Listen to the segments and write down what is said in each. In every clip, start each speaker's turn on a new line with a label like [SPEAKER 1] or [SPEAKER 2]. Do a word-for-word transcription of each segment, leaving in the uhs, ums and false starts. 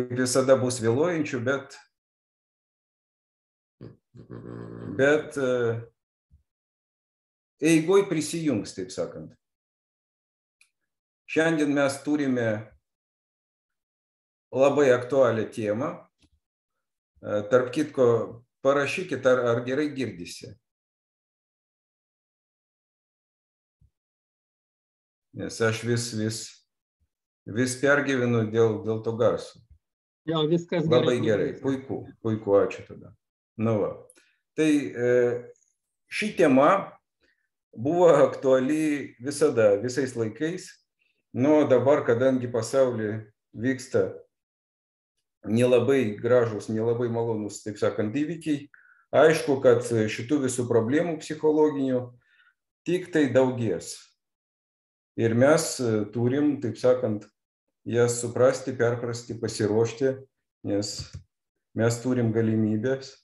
[SPEAKER 1] visada bus vėluojančių, bet, bet eigoj prisijungs, taip sakant. Šiandien mes turime labai aktualią temą. Tarp kitko, parašykit, ar, ar gerai girdisi. Nes aš vis, vis, vis pergyvenu dėl, dėl to garso.
[SPEAKER 2] Jo, viskas gerai.
[SPEAKER 1] Labai gerai, puiku, puiku, ačiū tada. Nu va. Tai ši tema buvo aktuali visada, visais laikais. Nu, dabar, kadangi pasaulyje vyksta nelabai gražus, nelabai malonus, taip sakant, įvykiai, aišku, kad šitų visų problemų psichologinių tik tai daugės. Ir mes turim, taip sakant, jas suprasti, perprasti, pasiruošti, nes mes turim galimybės,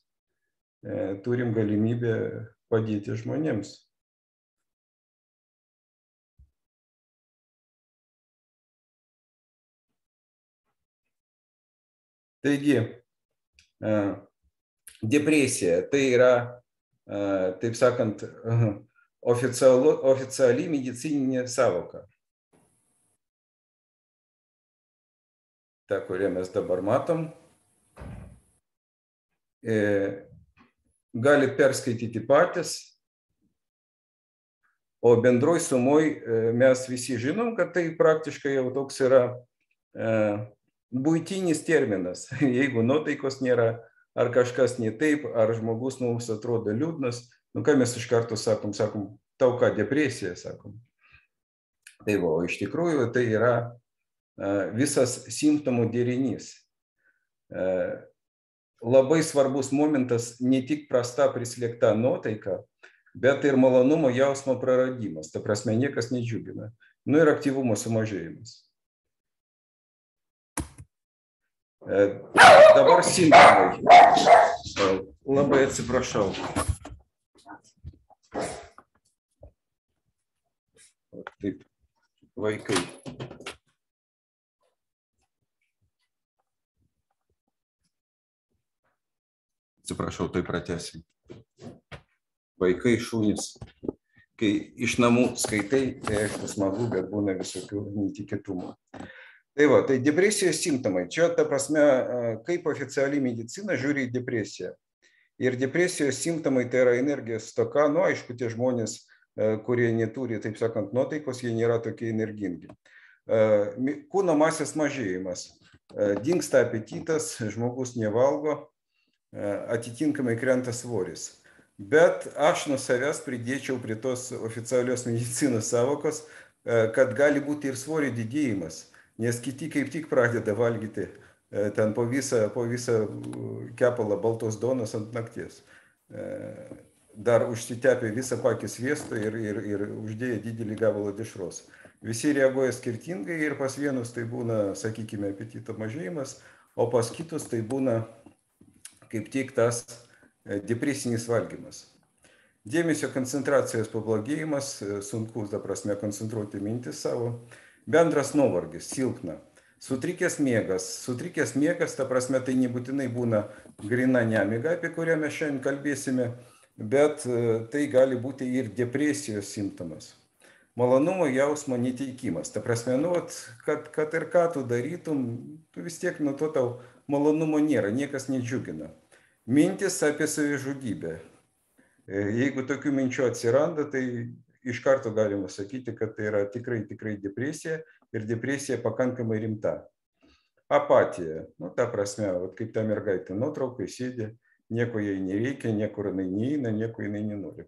[SPEAKER 1] turim galimybę padėti žmonėms. Taigi, depresija tai yra, taip sakant, oficialu, oficiali medicininė savoka. Ta, kurią mes dabar matom. Galit perskaityti patys, o bendroj sumoj mes visi žinom, kad tai praktiškai jau toks yra buitinis terminas. Jeigu nuotaikos nėra, ar kažkas ne taip, ar žmogus mums atrodo liūdnas, nu ką mes iš karto sakom, sakom, tau ką, depresija, sakom. Tai va, iš tikrųjų tai yra visas simptomų derinys. Labai svarbus momentas ne tik prasta prislėgta nuotaika, bet ir malonumo jausmo praradimas. Ta prasme, niekas nedžiugina. Nu ir aktyvumo sumažėjimas. Dabar simptomai. Labai atsiprašau. Taip, vaikai. Atsiprašau, tai pratęsim. Vaikai, šunys. Kai iš namų skaitai, tai aišku smagu, bet būna visokių netikėtumų. Tai va, tai depresijos simptomai. Čia, ta prasme, kaip oficiali medicina žiūri į depresiją. Ir depresijos simptomai tai yra energijos stoka. Nu, aišku, tie žmonės, kurie neturi, taip sakant, nuotaikos, jie nėra tokie energingi. Kūno masės mažėjimas. Dingsta apetitas, žmogus nevalgo, atitinkamai krenta svoris. Bet aš nuo savęs pridėčiau prie tos oficialios medicinos savokos, kad gali būti ir svorio didėjimas, nes kiti kaip tik pradeda valgyti ten po visą, po visą kepalą baltos duonos ant nakties. Dar užsitepė visą pakį sviesto ir, ir, ir uždėjo didelį gabalą dešros. Visi reaguoja skirtingai ir pas vienus tai būna, sakykime, apetito mažėjimas, o pas kitus tai būna kaip tik tas depresinis valgymas. Dėmesio koncentracijos pablogėjimas, sunkus, ta prasme, koncentruoti mintis savo, bendras nuovargis, silpna, sutrikęs miegas. Sutrikęs miegas, ta prasme, tai nebūtinai būna grina nemiga, apie kurią mes šiandien kalbėsime, bet tai gali būti ir depresijos simptomas. Malonumo jausmo neteikimas. Ta prasme, nu, kad, kad ir ką tu darytum, tu vis tiek nuo to tau malonumo nėra, niekas nedžiugina. Mintis apie savižudybę. Jeigu tokių minčių atsiranda, tai iš karto galima sakyti, kad tai yra tikrai, tikrai depresija ir depresija pakankamai rimta. Apatija. Nu, ta prasme, kaip ta mergaitė nuotraukai sėdi, nieko jai nereikia, niekur jinai neina, nieko jinai nenori.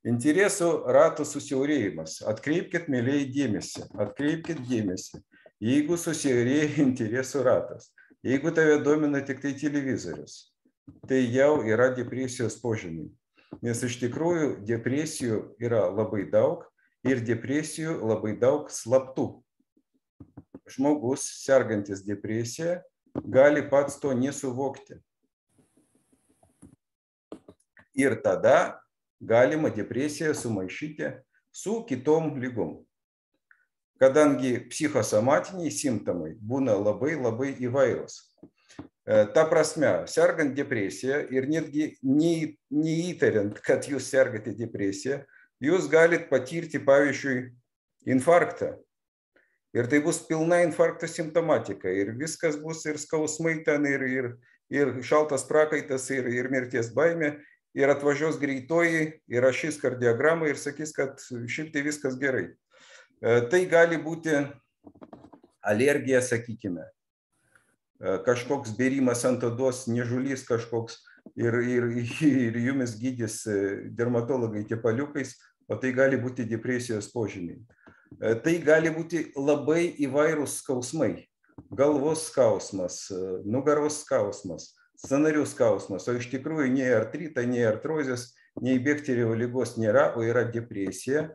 [SPEAKER 1] Interesų rato susiaurėjimas. Atkreipkit, mėlyje, dėmesį. Atkreipkit dėmesį. Jeigu susiaurėja interesų ratas, jeigu tave domina tik tai televizorius, tai jau yra depresijos požymiai. Nes iš tikrųjų depresijų yra labai daug ir depresijų labai daug slaptų. Žmogus, sergantis depresiją, gali pats to nesuvokti. Ir tada galima depresiją sumaišyti su kitom ligom. Kadangi psichosomatiniai simptomai būna labai labai įvairūs. Ta prasme, sergant depresiją ir netgi neįtariant, kad jūs sergate depresiją, jūs galit patirti, pavyzdžiui, infarktą. Ir tai bus pilna infarkto simptomatika. Ir viskas bus ir skausmai ten, ir, ir, ir šaltas prakaitas, ir, ir mirties baimė. Ir atvažiuos greitoji, ir rašys kardiogramą ir sakys, kad šiaip tai viskas gerai. Tai gali būti alergija, sakykime. Kažkoks bėrimas ant odos, niežulys kažkoks ir, ir, ir jumis gydys dermatologai tepaliukais, o tai gali būti depresijos požymiai. Tai gali būti labai įvairūs skausmai. Galvos skausmas, nugaros skausmas, sąnarių skausmas, o iš tikrųjų nei artrita, nei artrozės, nei Bekterio ligos nėra, o yra depresija,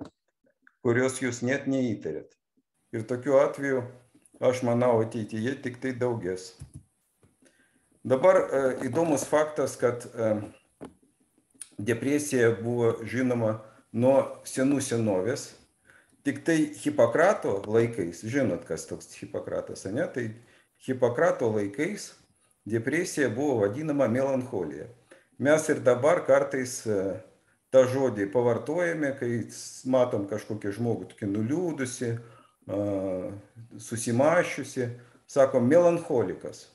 [SPEAKER 1] kurios jūs net neįtarėt. Ir tokiu atveju aš manau, ateityje tik tai daugės. Dabar įdomus faktas, kad depresija buvo žinoma nuo senų senovės. Tik tai Hipokrato laikais, žinot, kas toks Hipokratas, ne? Tai Hipokrato laikais depresija buvo vadinama melancholija. Mes ir dabar kartais tą žodį pavartojame, kai matom kažkokį žmogų tokį nuliūdusi, susimašiusi, sakom, melancholikas.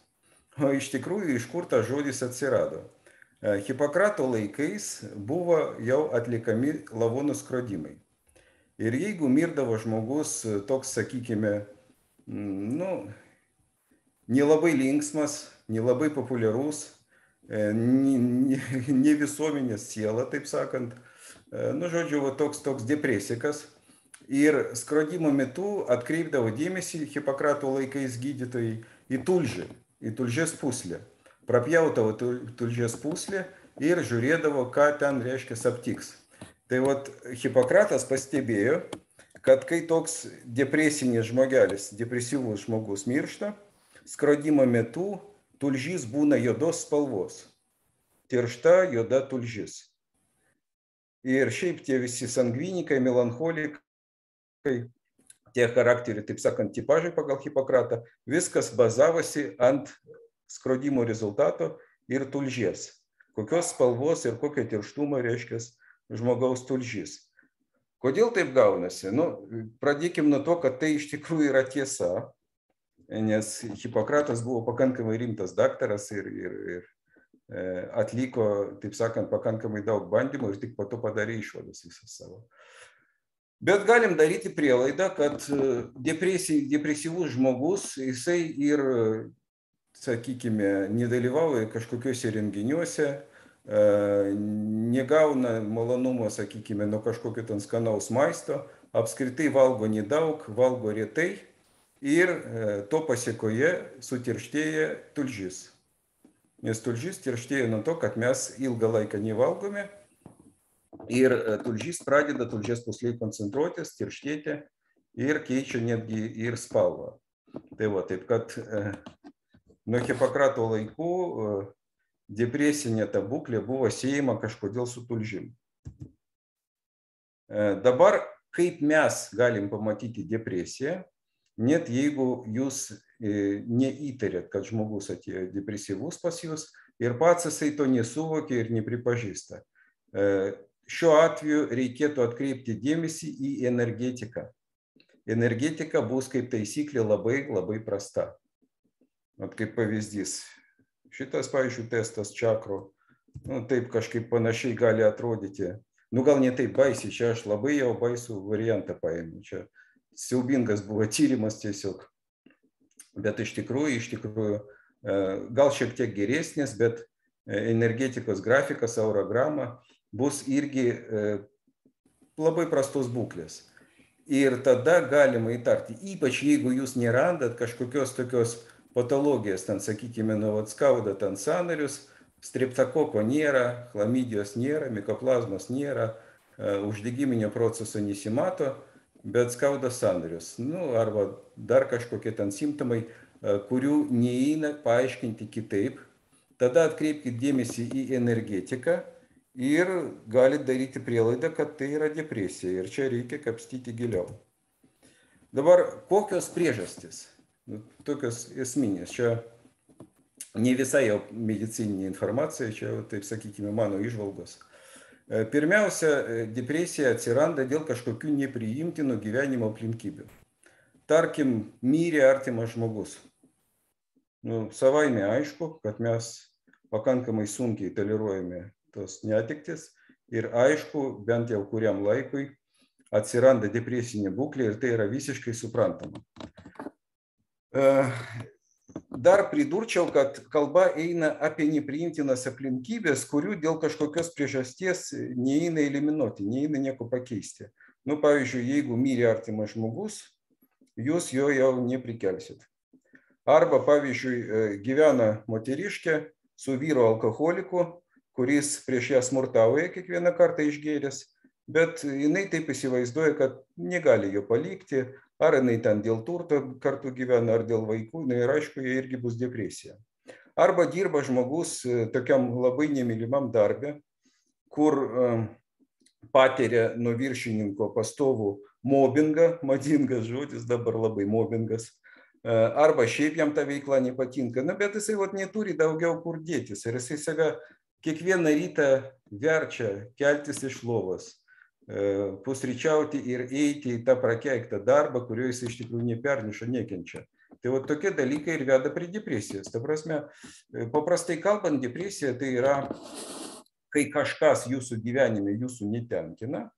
[SPEAKER 1] O iš tikrųjų, iš kur tas žodis atsirado? Hipokrato laikais buvo jau atlikami lavonų skrodimai. Ir jeigu mirdavo žmogus toks, sakykime, nu, nelabai linksmas, nelabai populiarus, ne visuomenės siela, taip sakant, nu, žodžiu, toks, toks depresikas, ir skrodimo metu atkreipdavo dėmesį Hipokrato laikais gydytojai į tulžį, į tulžies pūslę. Prapjautavo tulžies pūslę ir žiūrėdavo, ką ten reiškia aptiks. Tai vat Hipokratas pastebėjo, kad kai toks depresinis žmogelis, depresyvus žmogus miršta, skrodimo metu tulžys būna juodos spalvos. Tiršta juoda tulžis. Ir šiaip tie visi sangvinikai, melancholikai, tie charakteriai, taip sakant, tipažai pagal Hipokratą, viskas bazavosi ant skrodimo rezultato ir tulžies. Kokios spalvos ir kokio tirštumo reiškia žmogaus tulžys. Kodėl taip gaunasi? Nu, pradėkim nuo to, kad tai iš tikrųjų yra tiesa, nes Hipokratas buvo pakankamai rimtas daktaras ir, ir, ir atliko, taip sakant, pakankamai daug bandymų ir tik po to padarė išvadas visą savo. Bet galim daryti prielaidą, kad depresyvus žmogus, jisai ir, sakykime, nedalyvauja kažkokiuose renginiuose, negauna malonumo, sakykime, nuo kažkokio ten skanaus maisto, apskritai valgo nedaug, valgo retai ir to pasiekoje sutirštėja tulžis. Nes tulžis tirštėja nuo to, kad mes ilgą laiką nevalgome ir tulžys pradeda tulžies pūslėje koncentruotis, tirštėti ir keičia netgi ir spalvą. Tai va, taip kad nuo Hipokrato laikų depresinė ta būklė buvo siejama kažkodėl su tulžim. Dabar, kaip mes galim pamatyti depresiją, net jeigu jūs neįtarėt, kad žmogus atėjo depresyvus pas jūs ir pats jisai to nesuvokė ir nepripažįsta. Šiuo atveju reikėtų atkreipti dėmesį į energetiką. Energetika bus kaip taisyklė labai, labai prasta. At kaip pavyzdys. Šitas, pavyzdžiui, testas čakrų, nu, taip kažkaip panašiai gali atrodyti. Nu, gal ne taip baisiai, čia aš labai jau baisų variantą paėmiau. Čia siaubingas buvo tyrimas tiesiog. Bet iš tikrųjų, iš tikrųjų, gal šiek tiek geresnis, bet energetikos grafikas, aurograma bus irgi labai prastos būklės. Ir tada galima įtarti, ypač jeigu jūs nerandat kažkokios tokios patologijas, ten, sakykime, nu, skauda ten sąnarius, streptokoko nėra, chlamidijos nėra, mikoplazmos nėra, uždegiminio proceso nesimato, bet skauda sąnarius. Nu, arba dar kažkokie ten simptomai, kurių neįeina paaiškinti kitaip. Tada atkreipkite dėmesį į energetiką ir galite daryti prielaidą, kad tai yra depresija. Ir čia reikia kapstyti giliau. Dabar, kokios priežastys? Tokios esminės. Čia ne visai jau medicininė informacija, čia, taip sakykime, mano įžvalgos. Pirmiausia, depresija atsiranda dėl kažkokių nepriimtinų gyvenimo aplinkybių. Tarkim, mirė artimas žmogus. Nu, savaime aišku, kad mes pakankamai sunkiai toleruojame tos netektis ir aišku, bent jau kuriam laikui atsiranda depresinė būklė ir tai yra visiškai suprantama. Dar pridurčiau, kad kalba eina apie nepriimtinas aplinkybės, kurių dėl kažkokios priežasties neįeina eliminuoti, neįeina nieko pakeisti. Nu, pavyzdžiui, jeigu mirė artimas žmogus, jūs jo jau neprikelsit. Arba, pavyzdžiui, gyvena moteriškė su vyru alkoholiku, kuris prieš ją smurtauja kiekvieną kartą išgėręs, bet jinai taip įsivaizduoja, kad negali jo palikti, ar jinai ten dėl turto kartu gyvena, ar dėl vaikų, ir aišku, jie irgi bus depresija. Arba dirba žmogus tokiam labai nemylimam darbe, kur patiria nuo viršininko pastovų mobbingą, madingas žodis, dabar labai mobbingas, arba šiaip jam ta veikla nepatinka, na, bet jisai vat neturi daugiau kur dėtis ir jisai save kiekvieną rytą verčia keltis iš lovos, pusryčiauti ir eiti į tą prakeiktą darbą, kurio jis iš tikrųjų neperneša, nekenčia. Tai vat tokie dalykai ir veda prie depresijos. Ta prasme, paprastai kalbant, depresija tai yra, kai kažkas jūsų gyvenime jūsų netenkina,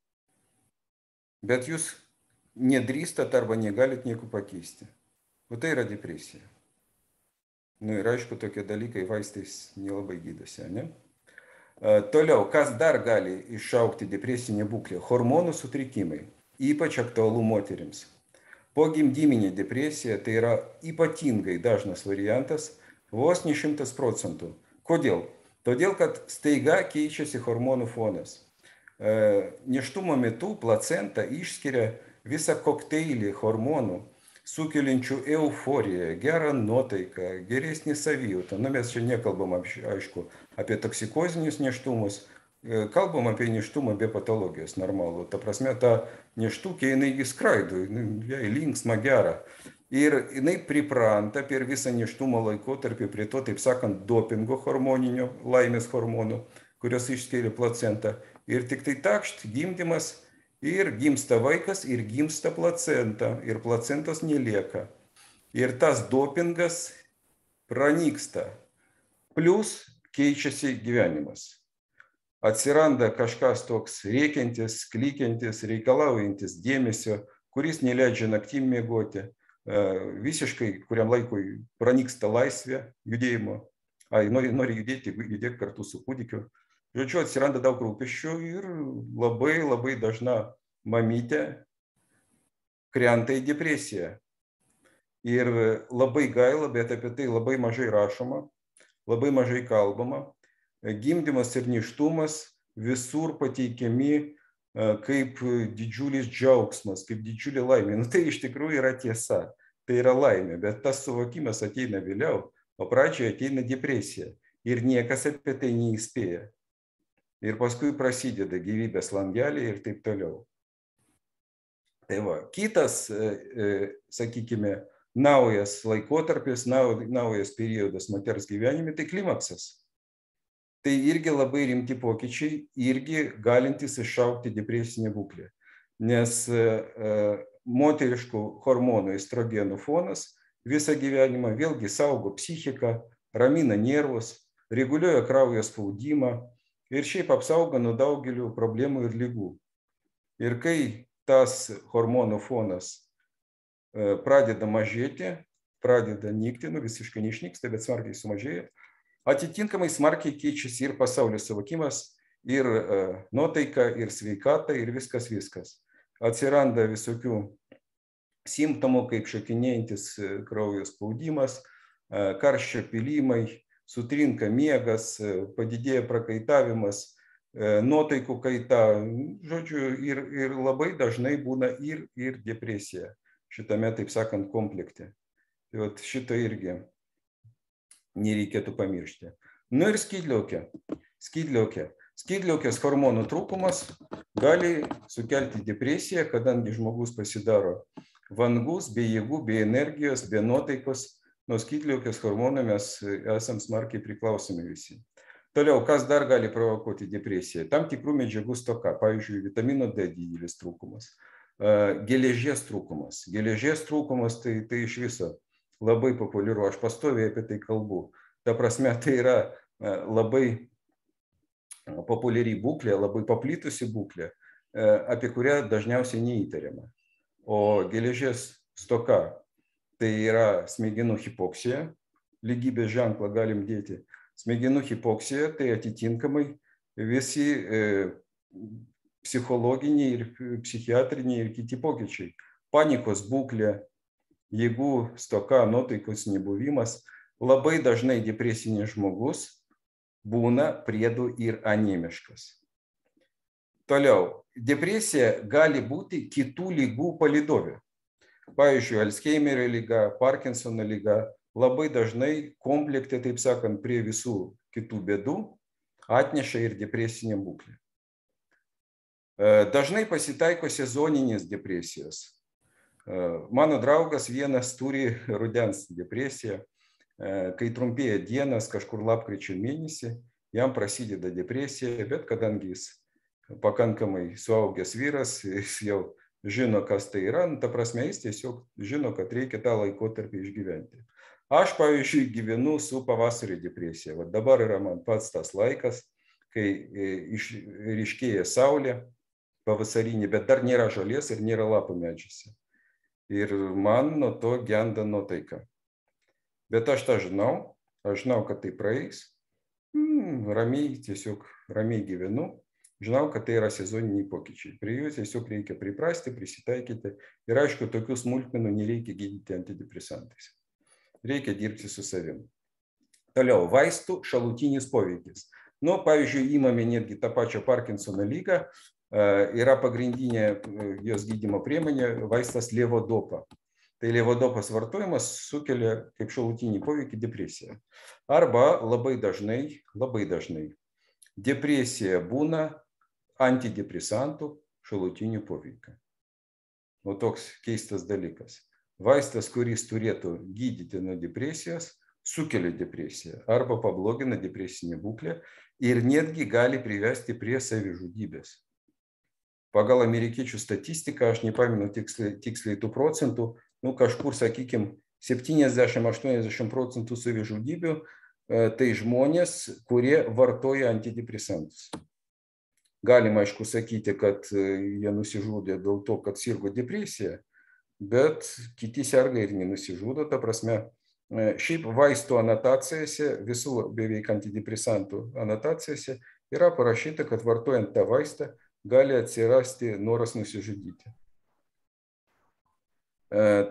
[SPEAKER 1] bet jūs nedrįstat arba negalit nieko pakeisti. O tai yra depresija. Nu ir aišku, tokie dalykai vaistais nelabai gydosi, ne? Toliau, kas dar gali iššaukti depresinę būklę? Hormonų sutrikimai, ypač aktualu moterims. Pogimdyminė depresija tai yra ypatingai dažnas variantas, vos ne šimtas procentų. Kodėl? Todėl, kad staiga keičiasi hormonų fonas. Nėštumo metu placenta išskiria visą kokteilį hormonų, sukeliančių euforiją, gerą nuotaiką, geresnį savijautą. Na, mes čia nekalbam, aišku, apie toksikozinius nėštumus, kalbam apie nėštumą be patologijos normalų. Ta prasme, ta nėštukė, jinai skraido, jai linksma, gera. Ir jinai pripranta per visą nėštumo laikotarpį prie to, taip sakant, dopingo hormoninio, laimės hormonų, kurios išskiria placentą. Ir tik tai takšt, gimdymas, ir gimsta vaikas, ir gimsta placenta, ir placentos nelieka. Ir tas dopingas pranyksta. Plius keičiasi gyvenimas. Atsiranda kažkas toks rėkiantis, klykiantis, reikalaujantis dėmesio, kuris neleidžia naktim miegoti. Visiškai kuriam laikui pranyksta laisvė judėjimo. Ai, nori, nori judėti, judėk kartu su kūdikiu. Žodžiu, atsiranda daug rūpesčių ir labai, labai dažna mamytė krenta į depresiją. Ir labai gaila, bet apie tai labai mažai rašoma, labai mažai kalbama. Gimdymas ir nėštumas visur pateikiami kaip didžiulis džiaugsmas, kaip didžiulė laimė. Nu, tai iš tikrųjų yra tiesa, tai yra laimė, bet tas suvokimas ateina vėliau, o pradžioje ateina depresija ir niekas apie tai neįspėja. Ir paskui prasideda gyvybės langeliai ir taip toliau. Tai va, kitas, sakykime, naujas laikotarpis, naujas periodas moters gyvenime, tai klimaksas. Tai irgi labai rimti pokyčiai, irgi galintys iššaukti depresinę būklę. Nes moteriškų hormonų estrogenų fonas visą gyvenimą vėlgi saugo psichiką, ramina nervus, reguliuoja kraujo spaudimą, ir šiaip apsaugo nuo daugelių problemų ir ligų. Ir kai tas hormonų fonas pradeda mažėti, pradeda nykti, nu visiškai neišnyksta, bet smarkiai sumažėja, atitinkamai smarkiai keičiasi ir pasaulio suvokimas, ir nuotaika, ir sveikata, ir viskas viskas. Atsiranda visokių simptomų, kaip šokinėjantis kraujo spaudimas, karščio pylimai, sutrinka miegas, padidėja prakaitavimas, nuotaikų kaita, žodžiu, ir, ir labai dažnai būna ir, ir depresija šitame, taip sakant, komplekte. Tai vat šito irgi nereikėtų pamiršti. Nu ir skydliaukė. Skydliaukė. Skydliaukės hormonų trūkumas gali sukelti depresiją, kadangi žmogus pasidaro vangus, be jėgų, be energijos, be nuotaikos. nuo skydliaukės hormonų mes esam smarkiai priklausomi visi. Toliau, kas dar gali provokuoti depresiją? Tam tikrų medžiagų stoka, pavyzdžiui, vitamino D didelis trūkumas, geležies trūkumas. Geležies trūkumas tai, tai iš viso labai populiaru, aš pastoviai apie tai kalbu. Ta prasme, tai yra labai populiari būklė, labai paplitusi būklė, apie kurią dažniausiai neįtariama. O geležies stoka tai yra smegenų hipoksija, lygybės ženklą galim dėti. Smegenų hipoksija tai atitinkamai visi e, psichologiniai ir psichiatriniai ir kiti pokyčiai. Panikos būklė, jėgų stoka, nuotaikos nebuvimas. Labai dažnai depresinis žmogus būna priedu ir anemiškas. Toliau, depresija gali būti kitų lygų palydovė. Pavyzdžiui, Alzheimerio lyga, Parkinsono lyga. Labai dažnai komplekte, taip sakant, prie visų kitų bėdų atneša ir depresinė būklė. Dažnai pasitaiko sezoninės depresijos. Mano draugas vienas turi rudens depresiją, kai trumpėja dienas, kažkur lapkričio mėnesį, jam prasideda depresija, bet kadangi jis pakankamai suaugęs vyras, jis jau žino, kas tai yra, ta prasme, jis tiesiog žino, kad reikia tą laikotarpį išgyventi. Aš, pavyzdžiui, gyvenu su pavasario depresija. Va dabar yra man pats tas laikas, kai ryškėja saulė pavasarinė, bet dar nėra žolės ir nėra lapų medžiuose. Ir man nuo to genda nuotaika. Bet aš tą žinau, aš žinau, kad tai praeis. Hmm, ramiai, tiesiog ramiai gyvenu. Žinau, kad tai yra sezoniniai pokyčiai. Prie jų tiesiog reikia priprasti, prisitaikyti. Ir aišku, tokių smulkmenų nereikia gydyti antidepresantais. Reikia dirbti su savim. Toliau, vaistų šalutinis poveikis. Nu, pavyzdžiui, įmame netgi tą pačią Parkinsono lygą, yra pagrindinė jos gydymo priemonė vaistas levodopa. Tai levodopas vartojimas sukelia kaip šalutinį poveikį depresiją. Arba labai dažnai, labai dažnai depresija būna antidepresantų šalutinių poveikio. O toks keistas dalykas. Vaistas, kuris turėtų gydyti nuo depresijos, sukelia depresiją arba pablogina depresinę būklę ir netgi gali privesti prie savižudybės. Pagal amerikiečių statistiką, aš nepamenu tiksliai, tiksliai tų procentų, nu kažkur, sakykime, septyniasdešimt aštuoniasdešimt procentų savižudybių tai žmonės, kurie vartoja antidepresantus. Galima, aišku, sakyti, kad jie nusižudė dėl to, kad sirgo depresija, bet kiti serga ir nenusižudo, ta prasme, šiaip vaistų anotacijose, visų beveik antidepresantų anotacijose yra parašyta, kad vartojant tą vaistą gali atsirasti noras nusižudyti.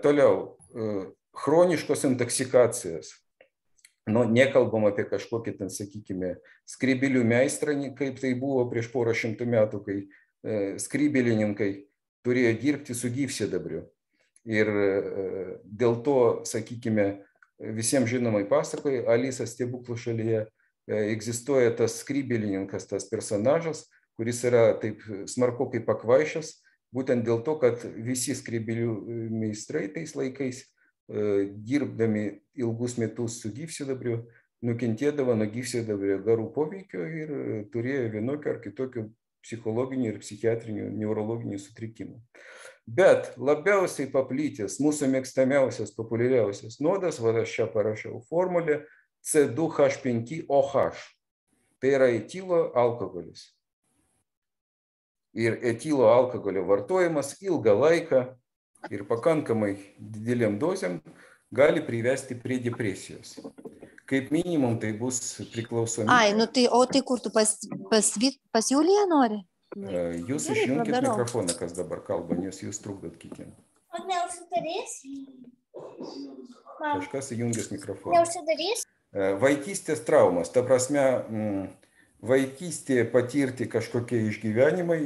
[SPEAKER 1] Toliau, chroniškos intoksikacijos. Nu, nekalbam apie kažkokį, ten, sakykime, skrybėlių meistrą, kaip tai buvo prieš porą šimtų metų, kai skrybėlininkai turėjo dirbti su gyvsidabriu. Ir dėl to, sakykime, visiems žinomai pasakoja, Alisa stebuklų šalyje egzistuoja tas skrybėlininkas, tas personažas, kuris yra taip smarkokai pakvaišęs, būtent dėl to, kad visi skrybėlių meistrai tais laikais, dirbdami ilgus metus su gyvsidabriu, nukentėdavo nuo gyvsidabrio garų poveikio ir turėjo vienokio ar kitokio psichologinių ir psichiatrinių neurologinių sutrikimų. Bet labiausiai paplitęs, mūsų mėgstamiausias, populiariausias nuodas, va aš čia parašiau formulę C du H penki O H. Tai yra etilo alkoholis. Ir etilo alkoholio vartojimas ilgą laiką ir pakankamai didelėm dozėm gali privesti prie depresijos. Kaip minimum tai bus priklausomybė.
[SPEAKER 2] Ai, nu tai, o tai kur tu pas, pas, pas Juliją nori?
[SPEAKER 1] Jūs išjunkit mikrofoną, kas dabar kalba, nes jūs trukdot kitiem.
[SPEAKER 3] O neužsidarys?
[SPEAKER 1] Kažkas įjungęs mikrofoną.
[SPEAKER 3] Neužsidarys?
[SPEAKER 1] Vaikystės traumas, ta prasme, vaikystėje patirti kažkokie išgyvenimai,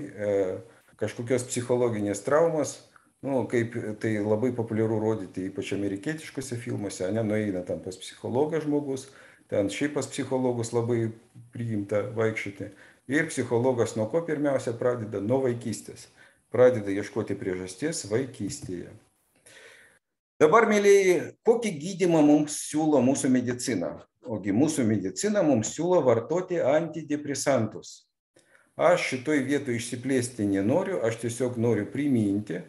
[SPEAKER 1] kažkokios psichologinės traumas, nu, kaip tai labai populiaru rodyti, ypač amerikietiškose filmuose, ne, nueina ten pas psichologą žmogus, ten šiaip pas psichologus labai priimta vaikščioti. Ir psichologas nuo ko pirmiausia pradeda? Nuo vaikystės. Pradeda ieškoti priežasties vaikystėje. Dabar, mėlyji, kokį gydymą mums siūlo mūsų medicina? Ogi mūsų medicina mums siūlo vartoti antidepresantus. Aš šitoj vietoj išsiplėsti nenoriu, aš tiesiog noriu priminti,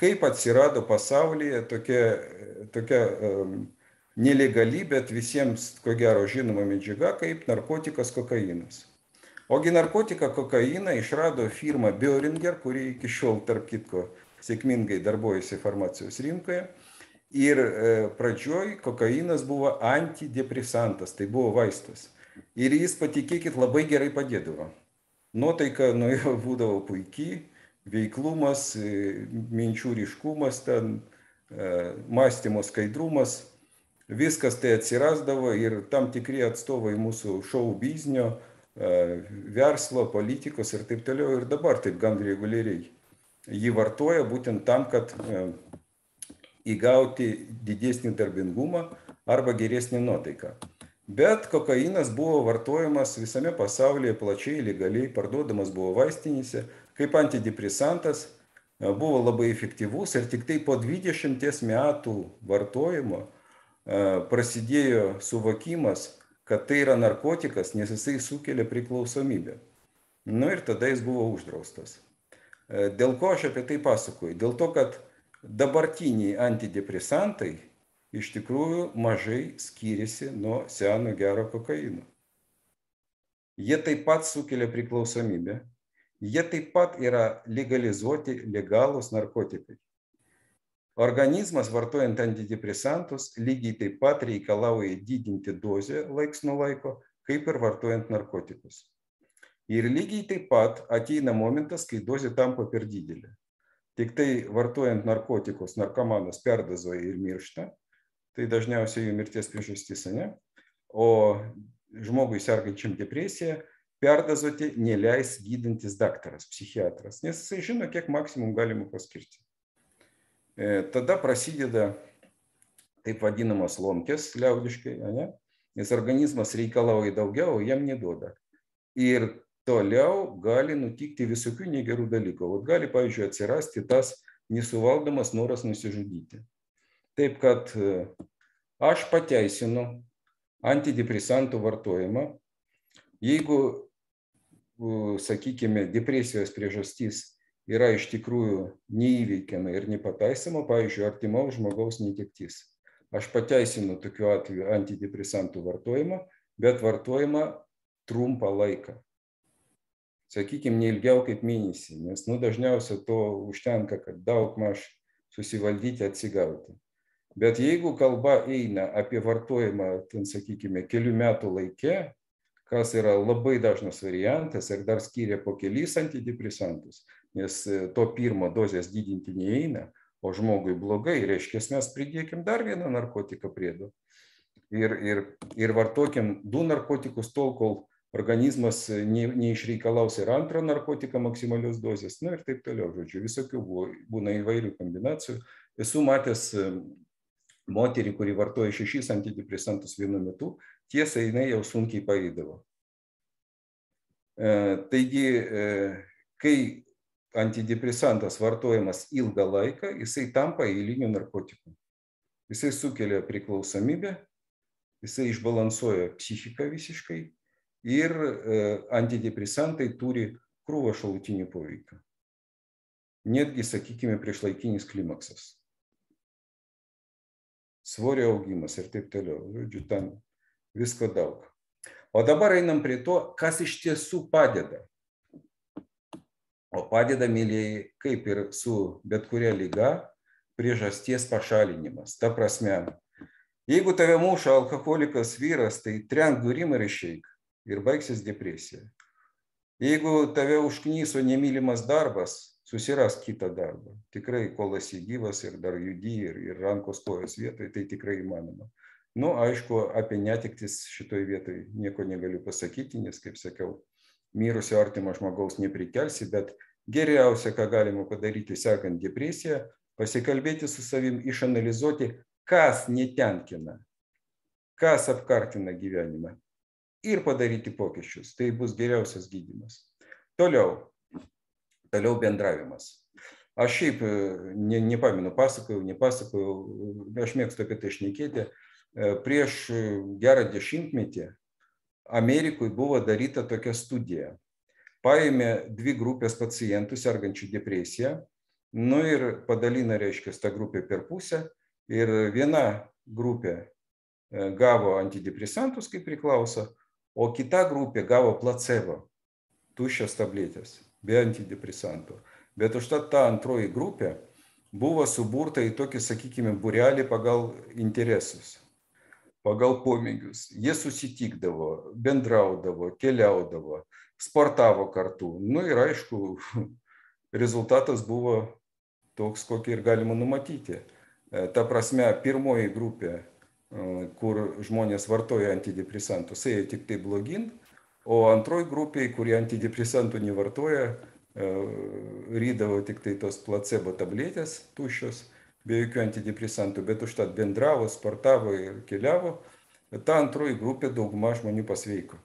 [SPEAKER 1] kaip atsirado pasaulyje tokia, tokia um, nelegali, bet visiems, ko gero, žinoma medžiaga, kaip narkotikas kokainas. Ogi narkotiką kokainą išrado firma Boehringer, kuri iki šiol, tarp kitko, sėkmingai darbuojasi farmacijos rinkoje. Ir pradžioj kokainas buvo antidepresantas, tai buvo vaistas. Ir jis, patikėkit, labai gerai padėdavo. Nuotaika nuo jo būdavo puikiai, veiklumas, minčių ryškumas, ten, mąstymo skaidrumas, viskas tai atsirasdavo ir tam tikri atstovai mūsų šou biznio, verslo, politikos ir taip toliau. Ir dabar taip gan reguliariai jį vartoja būtent tam, kad įgauti didesnį darbingumą arba geresnį nuotaiką. Bet kokainas buvo vartojamas visame pasaulyje plačiai, legaliai, parduodamas buvo vaistinėse, kaip antidepresantas, buvo labai efektyvus ir tik tai po dvidešimties metų vartojimo prasidėjo suvokimas, kad tai yra narkotikas, nes jisai sukelia priklausomybę. Nu ir tada jis buvo uždraustas. Dėl ko aš apie tai pasakoju? Dėl to, kad dabartiniai antidepresantai iš tikrųjų mažai skiriasi nuo seno gero kokaino. Jie taip pat sukelia priklausomybę, jie taip pat yra legalizuoti legalūs narkotikai. Organizmas, vartojant antidepresantus, lygiai taip pat reikalauja didinti dozę laiks nuo laiko, kaip ir vartojant narkotikus. Ir lygiai taip pat ateina momentas, kai dozė tampa per didelė. Tik tai vartojant narkotikus, narkomanas perdozuoja ir miršta, tai dažniausiai jų mirties priežastis, ne? O žmogui sergančiam depresiją perdozuoti neleis gydantis daktaras, psichiatras, nes jisai žino, kiek maksimum galima paskirti. Tada prasideda taip vadinamas lomkės liaudiškai, ne? Nes organizmas reikalauja daugiau, o jam neduoda. Ir toliau gali nutikti visokių negerų dalykų. O gali, pavyzdžiui, atsirasti tas nesuvaldomas noras nusižudyti. Taip kad aš pateisinu antidepresantų vartojimą. Jeigu, sakykime, depresijos priežastis yra iš tikrųjų neįveikiama ir nepataisoma, pavyzdžiui, artimaus žmogaus netektis. Aš pateisinu tokiu atveju antidepresantų vartojimą, bet vartojimą trumpą laiką. Sakykime, neilgiau kaip mėnesį, nes nu, dažniausiai to užtenka, kad daug maž susivaldyti, atsigauti. Bet jeigu kalba eina apie vartojimą, ten, sakykime, kelių metų laike, kas yra labai dažnas variantas ir dar skiria po kelis antidepresantus, nes to pirmo dozės didinti neeina, o žmogui blogai, reiškia, mes pridėkim dar vieną narkotiką priedo. Ir, ir, ir vartokim du narkotikus tol, kol organizmas ne, neišreikalaus ir antrą narkotiką maksimalios dozės, nu ir taip toliau, žodžiu, visokių buvo, būna įvairių kombinacijų. Esu matęs moterį, kuri vartoja šešis antidepresantus vienu metu, tiesa, jinai jau sunkiai paeidavo. E, taigi, e, kai antidepresantas vartojamas ilgą laiką, jisai tampa eiliniu narkotiku. Jisai sukelia priklausomybę, jisai išbalansuoja psichiką visiškai, ir antidepresantai turi krūvą šalutinių poveikio. Netgi, sakykime, priešlaikinis klimaksas. Svorio augimas ir taip toliau. Žodžiu, ten visko daug. O dabar einam prie to, kas iš tiesų padeda. O padeda, mylėjai, kaip ir su bet kuria liga, priežasties pašalinimas. Ta prasme, jeigu tave muša alkoholikas vyras, tai trenk durim ir išeik. Ir baigsis depresija. Jeigu tave užknyso nemylimas darbas, susirask kitą darbą. Tikrai, kol esi gyvas ir dar judi ir, ir rankos kojos vietoje, tai tikrai įmanoma. Nu, aišku, apie netektis šitoj vietoj nieko negaliu pasakyti, nes, kaip sakiau, mirusio artimo žmogaus neprikelsi, bet geriausia, ką galima padaryti sekant depresiją, pasikalbėti su savim, išanalizuoti, kas netenkina, kas apkartina gyvenimą. Ir padaryti pokyčius. Tai bus geriausias gydymas. Toliau, toliau bendravimas. Aš šiaip ne, nepamenu, pasakojau, nepasakojau, aš mėgstu apie tai šnekėti. Prieš gerą dešimtmetį Amerikoje buvo daryta tokia studija. Paėmė dvi grupės pacientų sergančių depresiją, nu ir padalina, reiškia, tą grupę per pusę ir viena grupė gavo antidepresantus, kaip priklauso, o kita grupė gavo placebo, tuščias tabletės, be antidepresantų. Bet užtat ta antroji grupė buvo suburta į tokį, sakykime, būrelį pagal interesus, pagal pomėgius. Jie susitikdavo, bendraudavo, keliaudavo, sportavo kartu. Nu ir aišku, rezultatas buvo toks, kokį ir galima numatyti. Ta prasme, pirmoji grupė, kur žmonės vartoja antidepresantus, ėjo tik tai blogin, o antroji grupė, kurie antidepresantų nevartoja, rydavo tik tai tos placebo tabletės tuščios, be jokių antidepresantų, bet užtat bendravo, sportavo ir keliavo, ta antroji grupė dauguma žmonių pasveiko.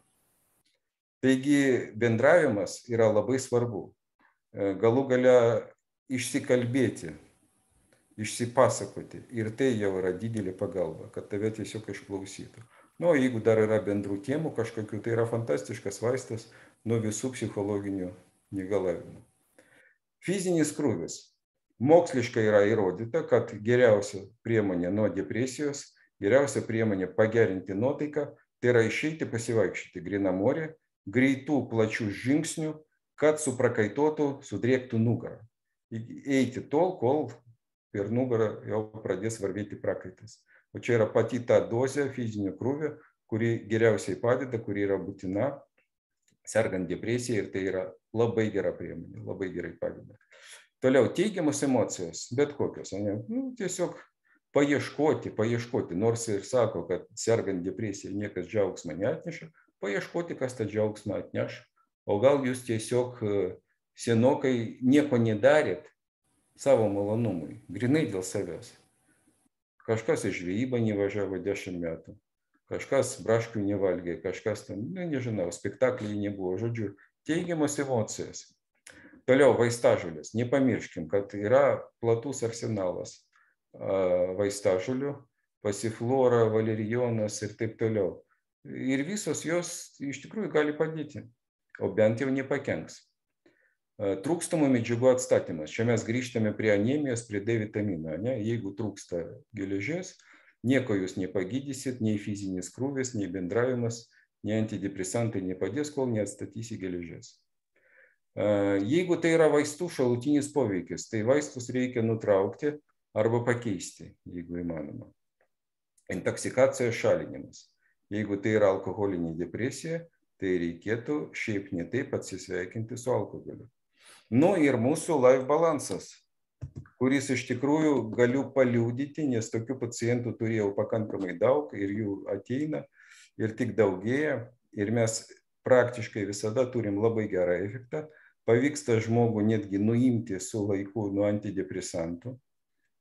[SPEAKER 1] Taigi bendravimas yra labai svarbu. Galų gale išsikalbėti, išsipasakoti. Ir tai jau yra didelė pagalba, kad tave tiesiog išklausytų. Nu, o jeigu dar yra bendrų temų kažkokių, tai yra fantastiškas vaistas nuo visų psichologinių negalavimų. Fizinis krūvis. Moksliškai yra įrodyta, kad geriausia priemonė nuo depresijos, geriausia priemonė pagerinti nuotaiką, tai yra išeiti pasivaikščioti grynam ore, greitų plačių žingsnių, kad suprakaituotų, sudrėktų nugarą. Eiti tol, kol per nugarą jau pradės varvėti prakaitas. O čia yra pati ta dozė fizinio krūvio, kuri geriausiai padeda, kuri yra būtina sergant depresiją ir tai yra labai gera priemonė, labai gerai padeda. Toliau, teigiamos emocijos, bet kokios, ne? Nu, tiesiog paieškoti, paieškoti, nors ir sako, kad sergant depresiją niekas džiaugsmą neatneša, paieškoti, kas tą džiaugsmą atneš. O gal jūs tiesiog senokai nieko nedarėt savo malonumui, grinai dėl savęs. Kažkas į žvejybą nevažiavo dešimt metų, kažkas braškių nevalgė, kažkas ten, ne, nežinau, spektakliai nebuvo, žodžiu, teigiamos emocijos. Toliau vaistažolės. Nepamirškim, kad yra platus arsenalas vaistažolių, pasiflora, valerijonas ir taip toliau. Ir visos jos iš tikrųjų gali padėti, o bent jau nepakenks. Trūkstamų medžiagų atstatymas. Čia mes grįžtame prie anemijos, prie D vitamino. Ne? Jeigu trūksta geležies, nieko jūs nepagydysit, nei fizinis krūvis, nei bendravimas, nei antidepresantai nepadės, kol neatstatysi geležies. Jeigu tai yra vaistų šalutinis poveikis, tai vaistus reikia nutraukti arba pakeisti, jeigu įmanoma. Intoksikacijos šalinimas. Jeigu tai yra alkoholinė depresija, tai reikėtų šiaip ne taip atsisveikinti su alkoholiu. Nu ir mūsų life balansas, kuris iš tikrųjų galiu paliudyti, nes tokių pacientų turėjau pakankamai daug ir jų ateina ir tik daugėja. Ir mes praktiškai visada turim labai gerą efektą. Pavyksta žmogų netgi nuimti su laiku nuo antidepresantų.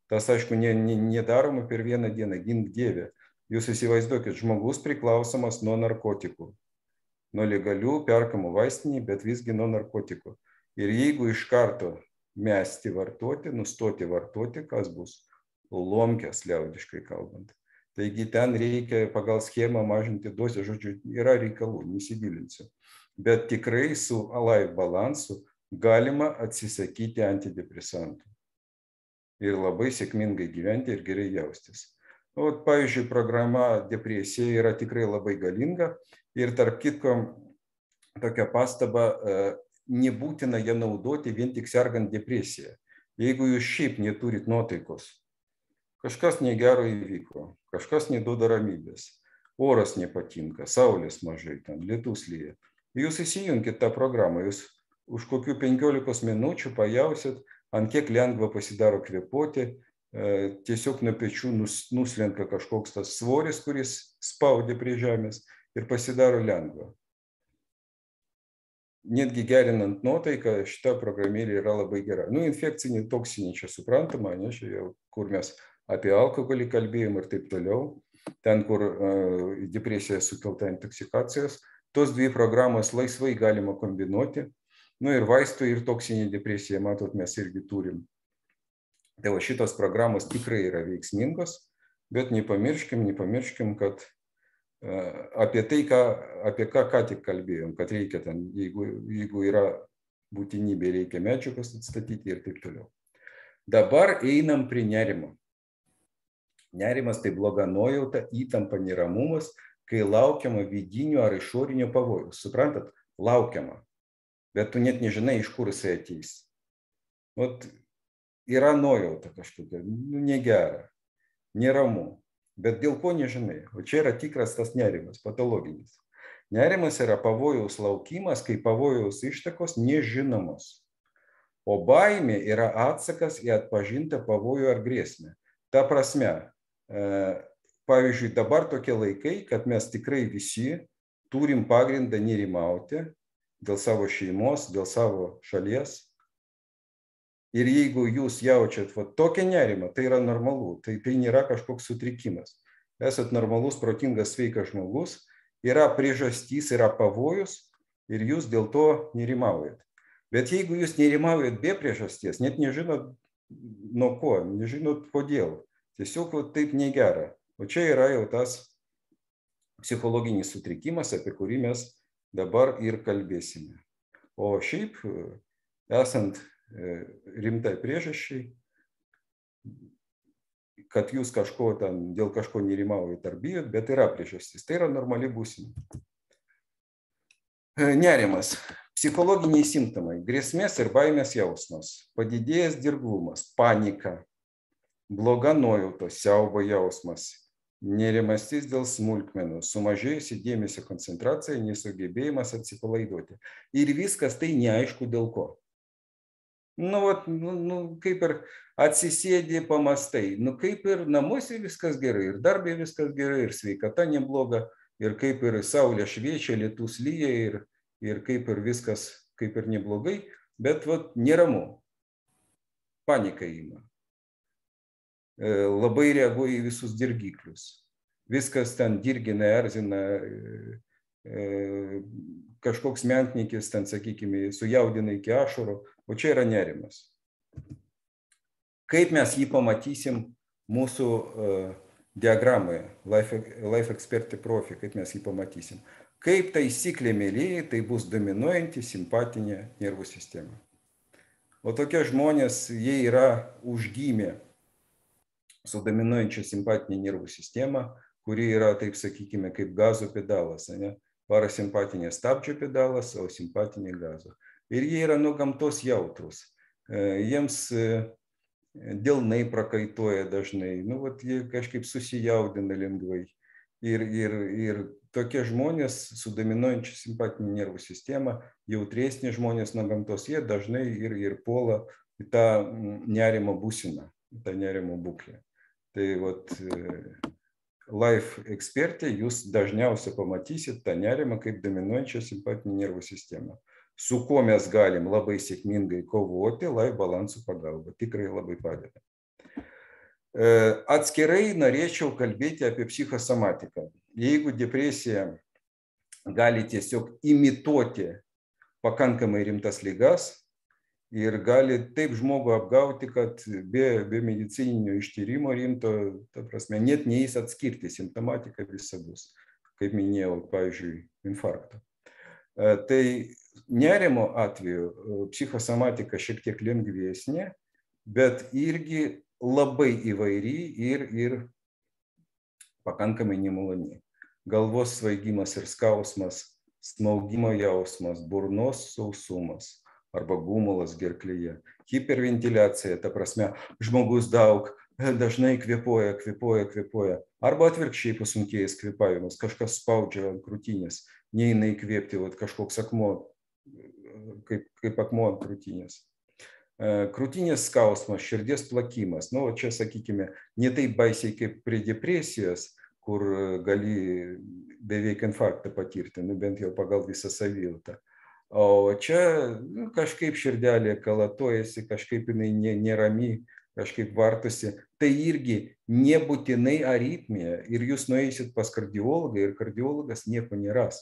[SPEAKER 1] Tas, aišku, nedaroma per vieną dieną, gink dieve. Jūs įsivaizduokit, žmogus priklausomas nuo narkotikų. Nuo legalių, perkamų vaistinį, bet visgi nuo narkotikų. Ir jeigu iš karto mesti vartoti, nustoti vartoti, kas bus? Lomkės, liaudiškai kalbant. Taigi ten reikia pagal schemą mažinti dozę, žodžiu, yra reikalų, nesigilinsiu. Bet tikrai su life balansu galima atsisakyti antidepresantų. Ir labai sėkmingai gyventi ir gerai jaustis. O, pavyzdžiui, programa depresija yra tikrai labai galinga ir tarp kitko tokia pastaba, nebūtina ją naudoti vien tik sergant depresiją. Jeigu jūs šiaip neturit nuotaikos, kažkas negero įvyko, kažkas neduoda ramybės, oras nepatinka, saulės mažai, ten lietus lyja. Jūs įsijunkit tą programą, jūs už kokių penkiolikos minučių pajausit, ant kiek lengva pasidaro kvėpuoti, tiesiog nuo pečių nuslenka kažkoks tas svoris, kuris spaudė prie žemės ir pasidaro lengva. Netgi gerinant nuotaiką, šita programėlė yra labai gera. Nu, infekcinė, toksinė, čia suprantama, ne, čia jau, kur mes apie alkoholį kalbėjom ir taip toliau, ten, kur uh, depresija sukelta intoksikacijos, tos dvi programos laisvai galima kombinuoti. Nu ir vaistų ir toksinė depresija, matot, mes irgi turim. Tai va šitos programos tikrai yra veiksmingos, bet nepamirškim, nepamirškim, kad apie tai, ką, apie ką ką tik kalbėjom, kad reikia ten, jeigu, jeigu yra būtinybė, reikia medžiagas atstatyti ir taip toliau. Dabar einam prie nerimo. Nerimas tai bloga nuojauta, įtampa, neramumas, kai laukiama vidinio ar išorinio pavojus. Suprantat? Laukiama. Bet tu net nežinai, iš kur jisai ateis. Ot, yra nuojauta kažkokia, nu, negera, neramu. Bet dėl ko nežinai. O čia yra tikras tas nerimas, patologinis. Nerimas yra pavojaus laukimas, kai pavojaus ištakos nežinomos. O baimė yra atsakas į atpažintą pavojų ar grėsmę. Ta prasme, pavyzdžiui, dabar tokie laikai, kad mes tikrai visi turim pagrindą nerimauti dėl savo šeimos, dėl savo šalies. Ir jeigu jūs jaučiat va, tokią nerimą, tai yra normalu, tai, tai nėra kažkoks sutrikimas. Esat normalus, protingas, sveikas žmogus, yra priežastys, yra pavojus ir jūs dėl to nerimaujat. Bet jeigu jūs nerimaujat be priežasties, net nežinot nuo ko, nežinot kodėl, tiesiog va, taip negera. O čia yra jau tas psichologinis sutrikimas, apie kurį mes dabar ir kalbėsime. O šiaip, esant rimtai priežasčiai, kad jūs kažko ten, dėl kažko nerimaujat ar bijot, bet yra priežastis. Tai yra normali būsena. Nerimas. Psichologiniai simptomai. Grėsmės ir baimės jausmas. Padidėjęs dirglumas, panika, bloga nuojauta, siaubo jausmas, nerimastis dėl smulkmenų, sumažėjusi dėmesio koncentracija, nesugebėjimas atsipalaiduoti. Ir viskas tai neaišku dėl ko. Nu, vat, nu, nu, kaip ir atsisėdė, pamastai, nu, kaip ir namuose viskas gerai, ir darbė viskas gerai, ir sveikata nebloga, ir kaip ir saulė šviečia, lietus lyja, ir, ir kaip ir viskas kaip ir neblogai, bet vat, neramu, panika ima. Labai reaguoja į visus dirgiklius. Viskas ten dirgina, erzina, kažkoks menknikis, ten, sakykime, sujaudina iki ašarų, o čia yra nerimas. Kaip mes jį pamatysim mūsų uh, diagramoje, Life, Life Expert Profi, kaip mes jį pamatysim. Kaip taisyklė, mėlyje, tai bus dominuojanti simpatinė nervų sistema. O tokie žmonės, jie yra užgimę su dominuojančia simpatinė nervų sistema, kuri yra, taip sakykime, kaip gazo pedalas, ne? Parasimpatinė stabdžio pedalas, o simpatinė gazo. Ir jie yra nuo gamtos jautrus. Jiems delnai prakaituoja dažnai, nu, vat, jie kažkaip susijaudina lengvai. Ir, ir, ir tokie žmonės su dominuojančia simpatinė nervų sistema, jautresni žmonės nuo gamtos, jie dažnai ir, ir puola į tą nerimo būseną, tą nerimo būklę. Tai vat, Life Experte jūs dažniausiai pamatysit tą nerimą kaip dominuojančią simpatinę nervų sistemą, su kuo mes galim labai sėkmingai kovoti Life balansų pagalba. Tikrai labai padeda. Atskirai norėčiau kalbėti apie psichosomatiką. Jeigu depresija gali tiesiog imituoti pakankamai rimtas ligas ir gali taip žmogų apgauti, kad be, be medicininio ištyrimo rimto, ta prasme, net neįs atskirti, simptomatika visa bus, kaip minėjau, pavyzdžiui, infarktą. Tai nerimo atveju psichosomatika šiek tiek lengvesnė, bet irgi labai įvairi ir, ir pakankamai nemaloni. Galvos svaigimas ir skausmas, smaugimo jausmas, burnos sausumas arba gumulas gerklėje, hiperventiliacija, ta prasme, žmogus daug, dažnai kvėpuoja, kvėpuoja, kvėpuoja, arba atvirkščiai pasunkėjęs kvėpavimas, kažkas spaudžia ant krūtinės, neina įkvėpti, vat, kažkoks akmuo, kaip, kaip akmuo ant krūtinės. Krūtinės skausmas, širdies plakimas, nu, čia, sakykime, ne taip baisiai kaip prie depresijos, kur gali beveik infarktą patirti, nu, bent jau pagal visą savijautą. O čia nu, kažkaip širdelė kalatuojasi, kažkaip jinai nerami, kažkaip vartosi. Tai irgi nebūtinai aritmija. Ir jūs nueisit pas kardiologą ir kardiologas nieko neras.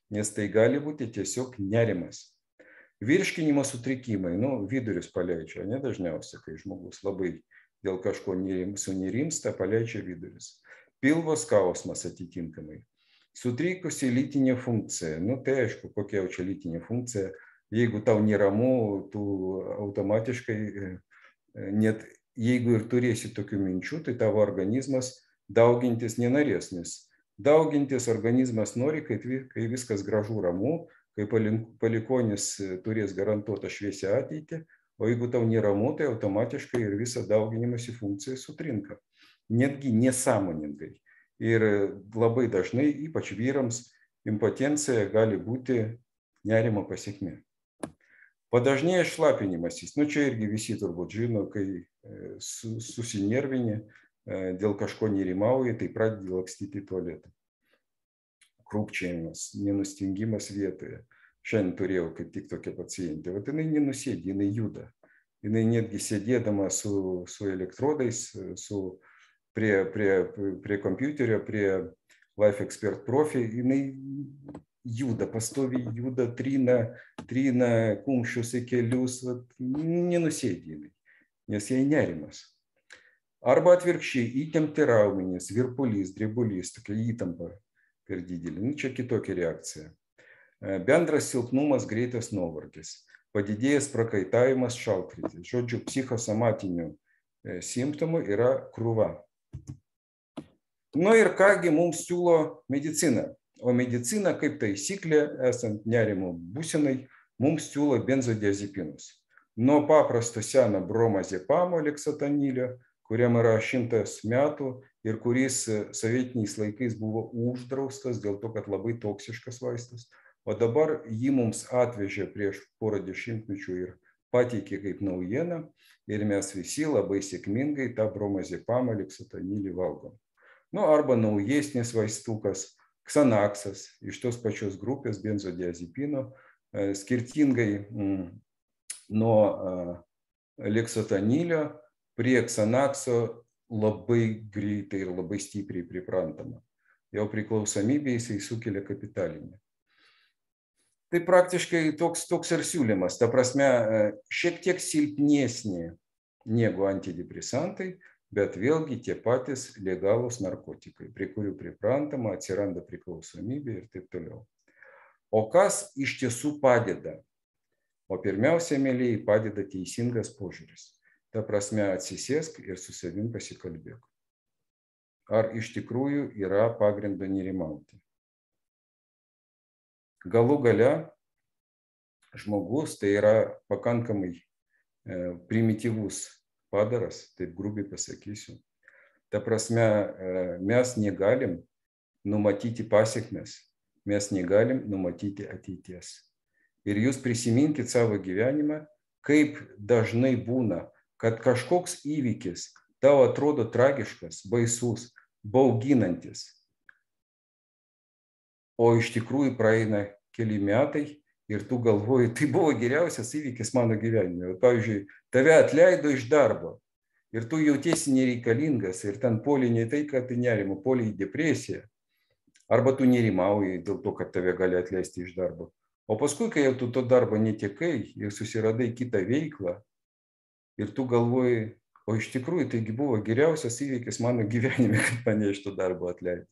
[SPEAKER 1] Nes tai gali būti tiesiog nerimas. Virškinimo sutrikimai, nu, vidurius paleidžia, ne dažniausiai, kai žmogus labai dėl kažko sunerimsta, paleidžia vidurius. Pilvo skausmas atitinkamai. Sutrikusi lytinė funkcija, nu tai aišku, kokia jau čia lytinė funkcija, jeigu tau neramu, tu automatiškai, net jeigu ir turėsi tokių minčių, tai tavo organizmas daugintis nenorės, nes daugintis organizmas nori, kai, kai viskas gražu ramu, kai palikonis turės garantuotą šviesią ateitį, o jeigu tau neramu, tai automatiškai ir visa dauginimosi funkcija sutrinka, netgi nesąmoningai. Ir labai dažnai, ypač vyrams, impotencija gali būti nerimo pasekmė. Padažnėja šlapinimasis, nu čia irgi visi turbūt žino, kai susinervini, dėl kažko nerimauja, tai pradedi lakstyti į tualetą. Krūpčiojimas, nenustingimas vietoje. Šiandien turėjau kaip tik tokią pacientę. Vat jinai nenusėdi, jinai juda. Jinai netgi sėdėdama su, su elektrodais, su, prie, prie, prie kompiuterio, prie Life Expert Profi, jinai juda, pastoviai juda, trina, trina kumščius į kelius, vat, nenusėdi jinai, nes jai nerimas. Arba atvirkščiai, įtempti raumenys, virpulys, drebulys, tokia įtampa per didelį. Nu, čia kitokia reakcija. Bendras silpnumas, greitas nuovargis, padidėjęs prakaitavimas, šaltkritis. Žodžiu, psichosomatinių simptomų yra krūva. Nu ir kągi mums siūlo medicina. O medicina, kaip taisyklė, esant nerimo būsenai, mums siūlo benzodiazepinus. Nuo paprasto seno bromazepamo leksotanilio, kuriam yra šimtas metų ir kuris sovietiniais laikais buvo uždraustas dėl to, kad labai toksiškas vaistas. O dabar jį mums atvežė prieš porą dešimtmečių ir pateikė kaip naujieną ir mes visi labai sėkmingai tą bromazepamą leksotanilį valgom. Nu, arba naujesnis vaistukas, Xanaxas, iš tos pačios grupės benzodiazepino, skirtingai nuo leksotanilio, prie Xanaxo labai greitai ir labai stipriai priprantama. Jau priklausomybė jisai sukelia kapitalinę. Tai praktiškai toks, toks ir siūlymas. Ta prasme, šiek tiek silpnesnė negu antidepresantai, bet vėlgi tie patys legalūs narkotikai, prie kurių priprantama, atsiranda priklausomybė ir taip toliau. O kas iš tiesų padeda? O pirmiausia, mėlyjei, padeda teisingas požiūris. Ta prasme, atsisėsk ir su savim pasikalbėk. Ar iš tikrųjų yra pagrindo nerimauti? Galų gale žmogus, tai yra pakankamai primityvus padaras, taip grubiai pasakysiu. Ta prasme, mes negalim numatyti pasekmes, mes negalim numatyti ateities. Ir jūs prisiminkit savo gyvenimą, kaip dažnai būna, kad kažkoks įvykis tau atrodo tragiškas, baisus, bauginantis. O iš tikrųjų praeina keli metai ir tu galvoji, tai buvo geriausias įvykis mano gyvenime. Pavyzdžiui, tave atleido iš darbo ir tu jautiesi nereikalingas ir ten puolei ne tai, kad tai nerimo, puolei į depresiją. Arba tu nerimauji dėl to, kad tave gali atleisti iš darbo. O paskui, kai jau tu to darbo netekai ir susiradai kitą veiklą, ir tu galvoji, o iš tikrųjų taigi buvo geriausias įvykis mano gyvenime, kad mane iš to darbo atleido.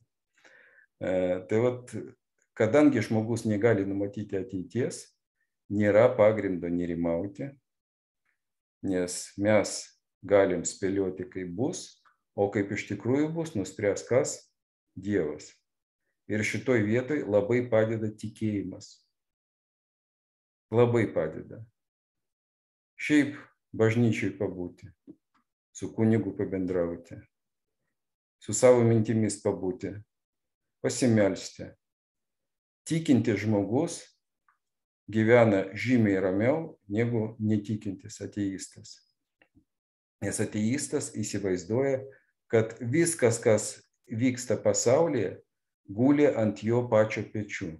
[SPEAKER 1] E, tai vat, kadangi žmogus negali numatyti ateities, nėra pagrindo nerimauti, nes mes galim spėlioti, kaip bus, o kaip iš tikrųjų bus, nuspręs kas? Dievas. Ir šitoj vietoj labai padeda tikėjimas. Labai padeda. Šiaip bažnyčiai pabūti, su kunigu pabendrauti, su savo mintimis pabūti, pasimelsti. Tikintis žmogus gyvena žymiai ramiau negu netikintis ateistas. Nes ateistas įsivaizduoja, kad viskas, kas vyksta pasaulyje, guli ant jo pačio pečių.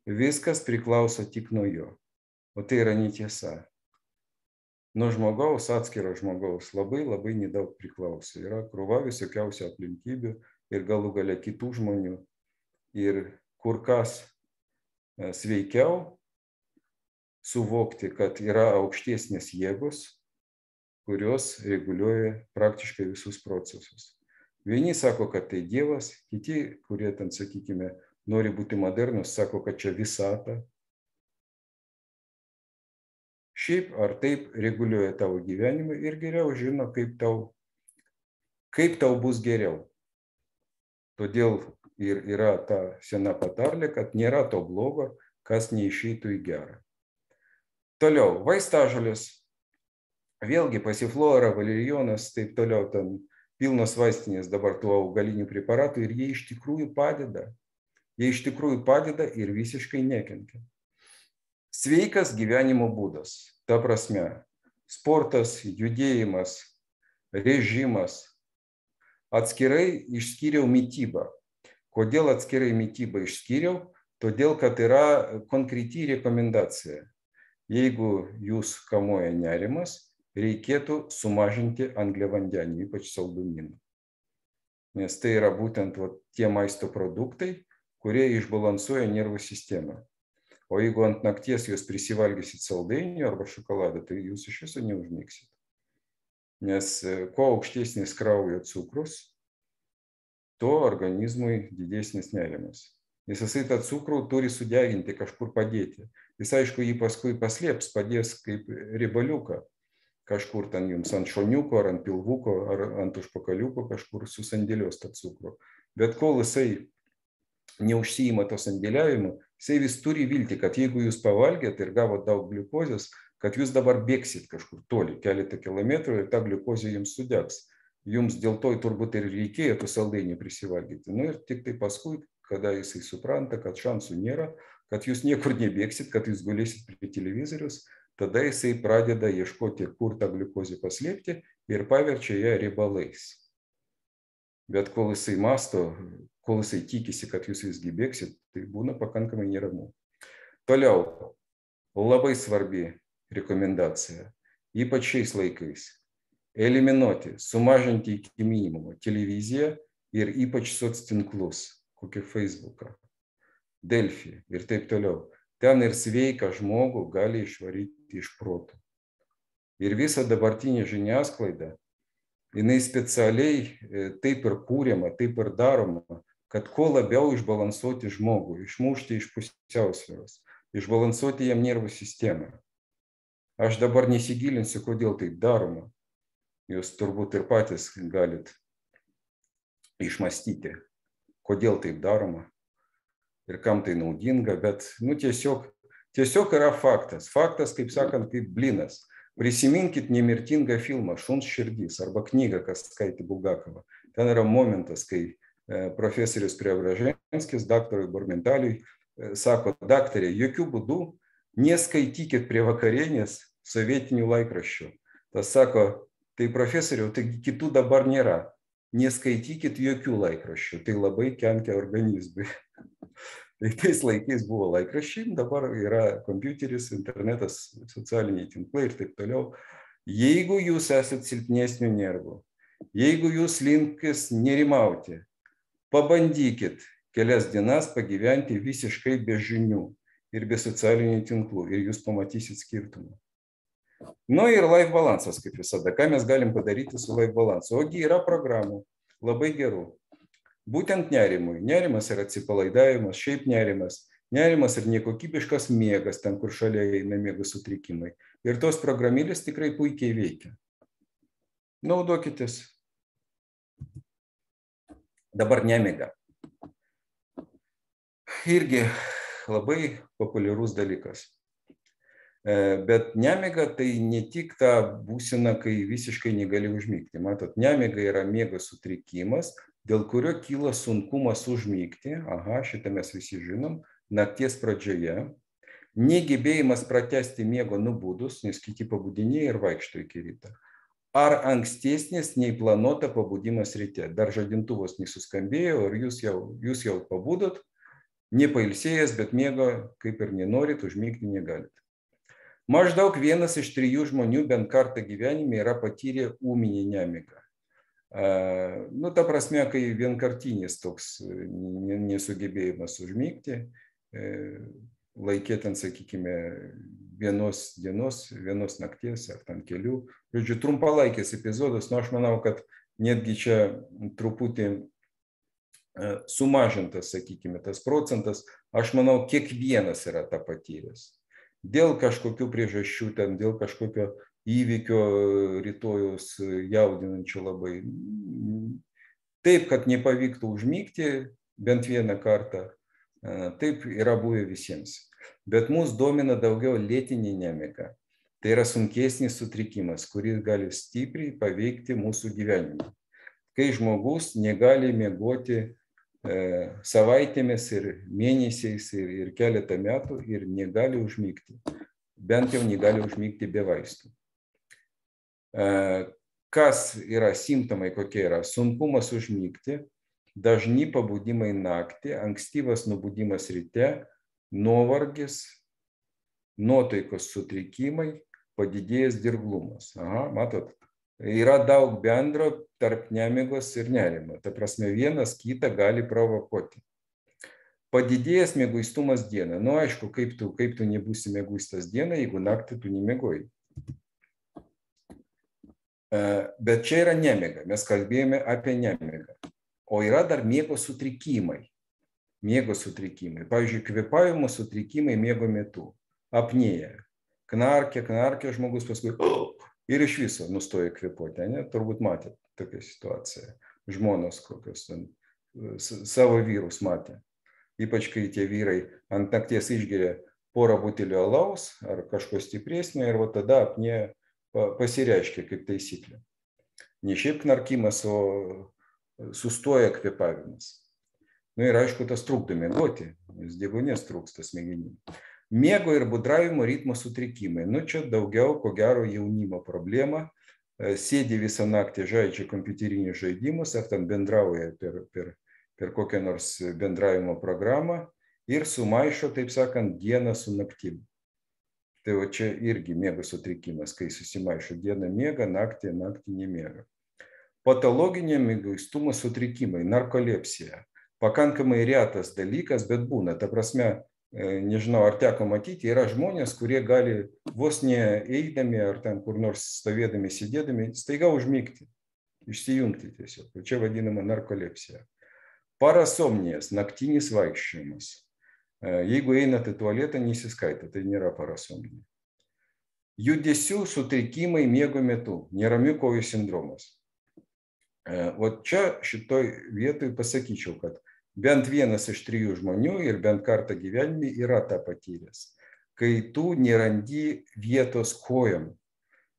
[SPEAKER 1] Viskas priklauso tik nuo jo. O tai yra netiesa. Nuo žmogaus, atskiro žmogaus, labai labai nedaug priklauso. Yra krūva visokiausių aplinkybių ir galų gale kitų žmonių. Ir kur kas sveikiau suvokti, kad yra aukštesnės jėgos, kurios reguliuoja praktiškai visus procesus. Vieni sako, kad tai Dievas, kiti, kurie ten, sakykime, nori būti modernus, sako, kad čia visata. Šiaip ar taip reguliuoja tavo gyvenimą ir geriau žino, kaip tau, kaip tau bus geriau. Todėl ir yra ta sena patarlė, kad nėra to blogo, kas neišeitų į gerą. Toliau, vaistažolės. Vėlgi pasiflora, valerijonas, taip toliau, ten pilnos vaistinės dabar tų augalinių preparatų ir jie iš tikrųjų padeda. Jie iš tikrųjų padeda ir visiškai nekenkia. Sveikas gyvenimo būdas, ta prasme, sportas, judėjimas, režimas. Atskirai išskyriau mitybą. Kodėl atskirai mitybą išskyriau? Todėl, kad yra konkreti rekomendacija. Jeigu jūs kamuoja nerimas, reikėtų sumažinti angliavandenį, ypač saldumynų. Nes tai yra būtent va, tie maisto produktai, kurie išbalansuoja nervų sistemą. O jeigu ant nakties jūs prisivalgysit saldainių arba šokoladą, tai jūs iš viso neužmigsit. Nes kuo aukštesnis kraujo cukrus, tuo organizmui didesnis nerimas. Nes jisai tą cukrų turi sudeginti, kažkur padėti. Jis aišku jį paskui paslėps, padės kaip ribaliuką. Kažkur ten jums ant šoniuko, ar ant pilvuko, ar ant užpakaliuko kažkur susandėlios tą cukrų. Bet kol jisai neužsiima to sandėliavimu, jisai vis turi vilti, kad jeigu jūs pavalgėt ir gavot daug gliukozės, kad jūs dabar bėgsit kažkur toli, keletą kilometrų ir ta gliukozė jums sudegs. Jums dėl to turbūt ir reikėjo tų saldainių prisivalgyti. Nu ir tik tai paskui, kada jisai supranta, kad šansų nėra, kad jūs niekur nebėgsit, kad jūs gulėsit prie televizorius, tada jisai pradeda ieškoti, kur tą gliukozę paslėpti ir paverčia ją riebalais. Bet kol jisai masto, kol jisai tikisi, kad jūs visgi bėgsit, tai būna pakankamai neramu. Toliau, labai svarbi rekomendacija, ypač šiais laikais, eliminuoti, sumažinti iki minimumo televiziją ir ypač soctinklus, kokį Facebooką, Delfį ir taip toliau. Ten ir sveiką žmogų gali išvaryti iš proto. Ir visa dabartinė žiniasklaida, jinai specialiai taip ir kūriama, taip ir daroma, kad kuo labiau išbalansuoti žmogų, išmušti iš pusiausvyros, išbalansuoti jam nervų sistemą. Aš dabar nesigilinsiu, kodėl taip daroma. Jūs turbūt ir patys galit išmąstyti, kodėl taip daroma. Ir kam tai naudinga, bet nu, tiesiog, tiesiog yra faktas. Faktas, kaip sakant, kaip blinas. Prisiminkit nemirtingą filmą Šuns širdys arba knygą, kas skaitė Bulgakovą. Ten yra momentas, kai profesorius Preobraženskis daktarui Bormentaliui sako, daktarė, jokių būdų neskaitykit prie vakarienės sovietinių laikraščių. Tas sako, tai profesoriau, tai kitų dabar nėra. Neskaitykit jokių laikraščių, tai labai kenkia organizmui. Tai tais laikais buvo laikraščiai, dabar yra kompiuteris, internetas, socialiniai tinklai ir taip toliau. Jeigu jūs esat silpnesnių nervų, jeigu jūs linkis nerimauti, pabandykit kelias dienas pagyventi visiškai be žinių ir be socialinių tinklų ir jūs pamatysit skirtumą. Nu ir life balansas, kaip visada. Ką mes galim padaryti su life balansu? Ogi yra programų, labai gerų. Būtent nerimui. Nerimas yra atsipalaidavimas, šiaip nerimas. Nerimas ir nekokybiškas miegas, ten kur šalia eina miego sutrikimai. Ir tos programėlės tikrai puikiai veikia. Naudokitės. Dabar nemiga. Irgi labai populiarus dalykas. Bet nemiga tai ne tik ta būsena, kai visiškai negali užmigti. Matot, nemiga yra miego sutrikimas, dėl kurio kyla sunkumas užmigti, aha, šitą mes visi žinom, nakties pradžioje, negebėjimas pratęsti miego nubudus, nes kiti pabudinėja ir vaikšto iki ryto, ar ankstesnis nei planuota pabudimas ryte, dar žadintuvas nesuskambėjo, ir jūs jau, jūs jau pabudot, nepailsėjęs, bet miego kaip ir nenorit, užmigti negalit. Maždaug vienas iš trijų žmonių bent kartą gyvenime yra patyrę ūminį nemigą. Nu, ta prasme, kai vienkartinis toks nesugebėjimas užmigti, laikė ten, sakykime, vienos dienos, vienos nakties ar ten kelių. Žodžiu, trumpalaikis epizodas, nu aš manau, kad netgi čia truputį sumažintas, sakykime, tas procentas, aš manau, kiekvienas yra tą patyręs. Dėl kažkokių priežasčių, ten, dėl kažkokio įvykio rytojus jaudinančio labai. Taip, kad nepavyktų užmygti bent vieną kartą, taip yra buvę visiems. Bet mus domina daugiau lėtinė nemiga. Tai yra sunkesnis sutrikimas, kuris gali stipriai paveikti mūsų gyvenimą. Kai žmogus negali miegoti e, savaitėmis ir mėnesiais ir, ir keletą metų ir negali užmygti. Bent jau negali užmygti be vaistų. E, kas yra simptomai, kokie yra? Sunkumas užmygti, dažni pabudimai naktį, ankstyvas nubudimas ryte, nuovargis, nuotaikos sutrikimai, padidėjęs dirglumas. Aha, matot, yra daug bendro tarp nemigos ir nerimo. Ta prasme, vienas kitą gali provokuoti. Padidėjęs mieguistumas dieną. Nu, aišku, kaip tu, kaip tu nebūsi mieguistas dieną, jeigu naktį tu nemiegoji. Bet čia yra nemiga. Mes kalbėjome apie nemigą. O yra dar miego sutrikimai. Miego sutrikimai. Pavyzdžiui, kvėpavimo sutrikimai miego metu. Apnėja. Knarkia, knarkia žmogus paskui ir iš viso nustoja kvėpuoti. Ne? Turbūt matėte tokią situaciją. Žmonos kokios ten savo vyrus matė. Ypač kai tie vyrai ant nakties išgeria porą butelio alaus ar kažko stipresnio ir va tada apnėja pasireiškia kaip taisyklė. Ne šiaip knarkimas, o sustoja kvėpavimas. Nu ir aišku, tas trukdo miegoti, nes deguonies trūksta smegenim. Miego ir budravimo ritmo sutrikimai. Nu čia daugiau, ko gero, jaunimo problema. Sėdi visą naktį, žaidžia kompiuterinius žaidimus, ar ten bendrauja per, per, per kokią nors bendravimo programą ir sumaišo, taip sakant, dieną su naktim. Tai va čia irgi miego sutrikimas, kai susimaišo dieną miega, naktį, naktį nemiega. Patologinio mieguistumo sutrikimai, narkolepsija. Pakankamai retas dalykas, bet būna. Ta prasme, nežinau, ar teko matyti, yra žmonės, kurie gali vos ne eidami ar ten kur nors stovėdami, sėdėdami, staiga užmigti, išsijungti tiesiog. Čia vadinama narkolepsija. Parasomnijas, naktinis vaikščiojimas. Jeigu einate į tualetą, nesiskaita, tai nėra parasomnija. Judesių sutrikimai miego metu, neramių kojų sindromas. O čia šitoj vietoj pasakyčiau, kad bent vienas iš trijų žmonių ir bent kartą gyvenime yra tą patyręs. Kai tu nerandi vietos kojom,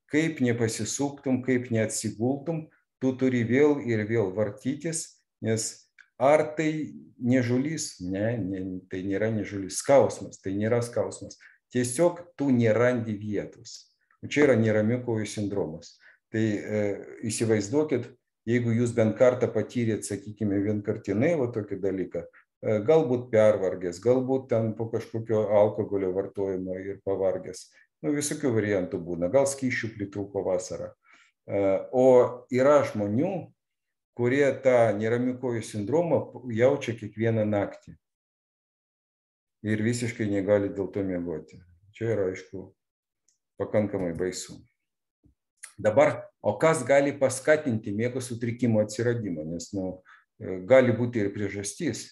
[SPEAKER 1] kaip nepasisuktum, kaip neatsigultum, tu turi vėl ir vėl vartytis, nes ar tai nežulys? Ne, ne, tai nėra nežulys. Skausmas, tai nėra skausmas. Tiesiog tu nerandi vietos. Čia yra neramių kojų sindromas. Tai e, įsivaizduokit, jeigu jūs bent kartą patyrėt, sakykime, vienkartinai va tokį dalyką, galbūt pervargęs, galbūt ten po kažkokio alkoholio vartojimo ir pavargęs, nu visokių variantų būna, gal skysčių pritrūko vasarą. O yra žmonių, kurie tą neramių kojų sindromą jaučia kiekvieną naktį ir visiškai negali dėl to miegoti. Čia yra, aišku, pakankamai baisu. Dabar, o kas gali paskatinti miego sutrikimo atsiradimą, nes nu, gali būti ir priežastys.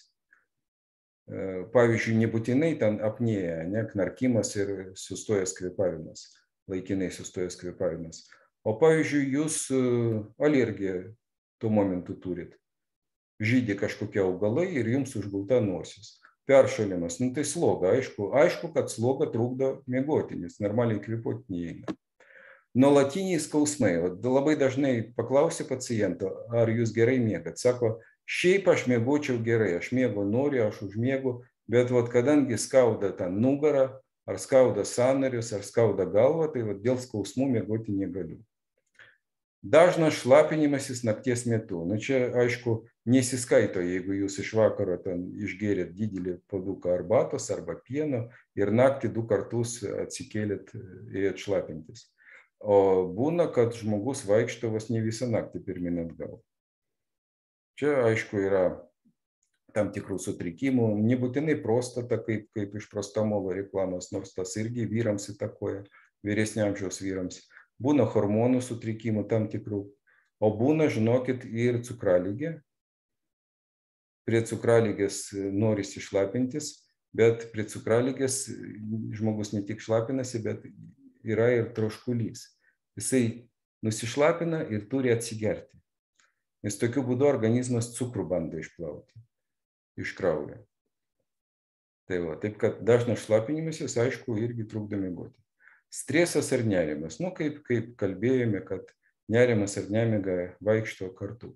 [SPEAKER 1] Pavyzdžiui, nebūtinai ten apnėja, ne, knarkimas ir sustojęs kvėpavimas, laikinai sustojęs kvėpavimas. O pavyzdžiui, jūs alergiją tuo momentu turit. Žydi kažkokie augalai ir jums užgulta nosis. Peršalimas, nu tai sloga, aišku, aišku, kad sloga trukdo miegoti, nes normaliai kvėpuoti neįeina. Nuolatiniai skausmai. Labai dažnai paklausia paciento, ar jūs gerai miegat. Sako, šiaip aš miegočiau gerai, aš miego noriu, aš užmiegu, bet vat, kadangi skauda ten nugarą, ar skauda sąnarius, ar skauda galvą, tai vat, dėl skausmų miegoti negaliu. Dažnas šlapinimasis nakties metu. Nu, čia, aišku, nesiskaito, jeigu jūs iš vakaro ten išgėrėt didelį puoduką arbatos arba pieno ir naktį du kartus atsikėlėt ir šlapintis. O būna, kad žmogus vaikšto vos ne visą naktį pirmyn atgal. Čia, aišku, yra tam tikrų sutrikimų, nebūtinai prostata, kaip, kaip iš prostamolo reklamos, nors tas irgi vyrams įtakoja, vyresnio amžiaus vyrams. Būna hormonų sutrikimų tam tikrų, o būna, žinokit, ir cukralygė. Prie cukralygės norisi šlapintis, bet prie cukralygės žmogus ne tik šlapinasi, bet yra ir troškulys. Jisai nusišlapina ir turi atsigerti. Nes tokiu būdu organizmas cukrų bando išplauti iš kraujo. Tai va, taip kad dažnas šlapinimasis, aišku, irgi trukdo miegoti. Stresas ar nerimas. Nu, kaip, kaip kalbėjome, kad nerimas ar nemiga vaikšto kartu.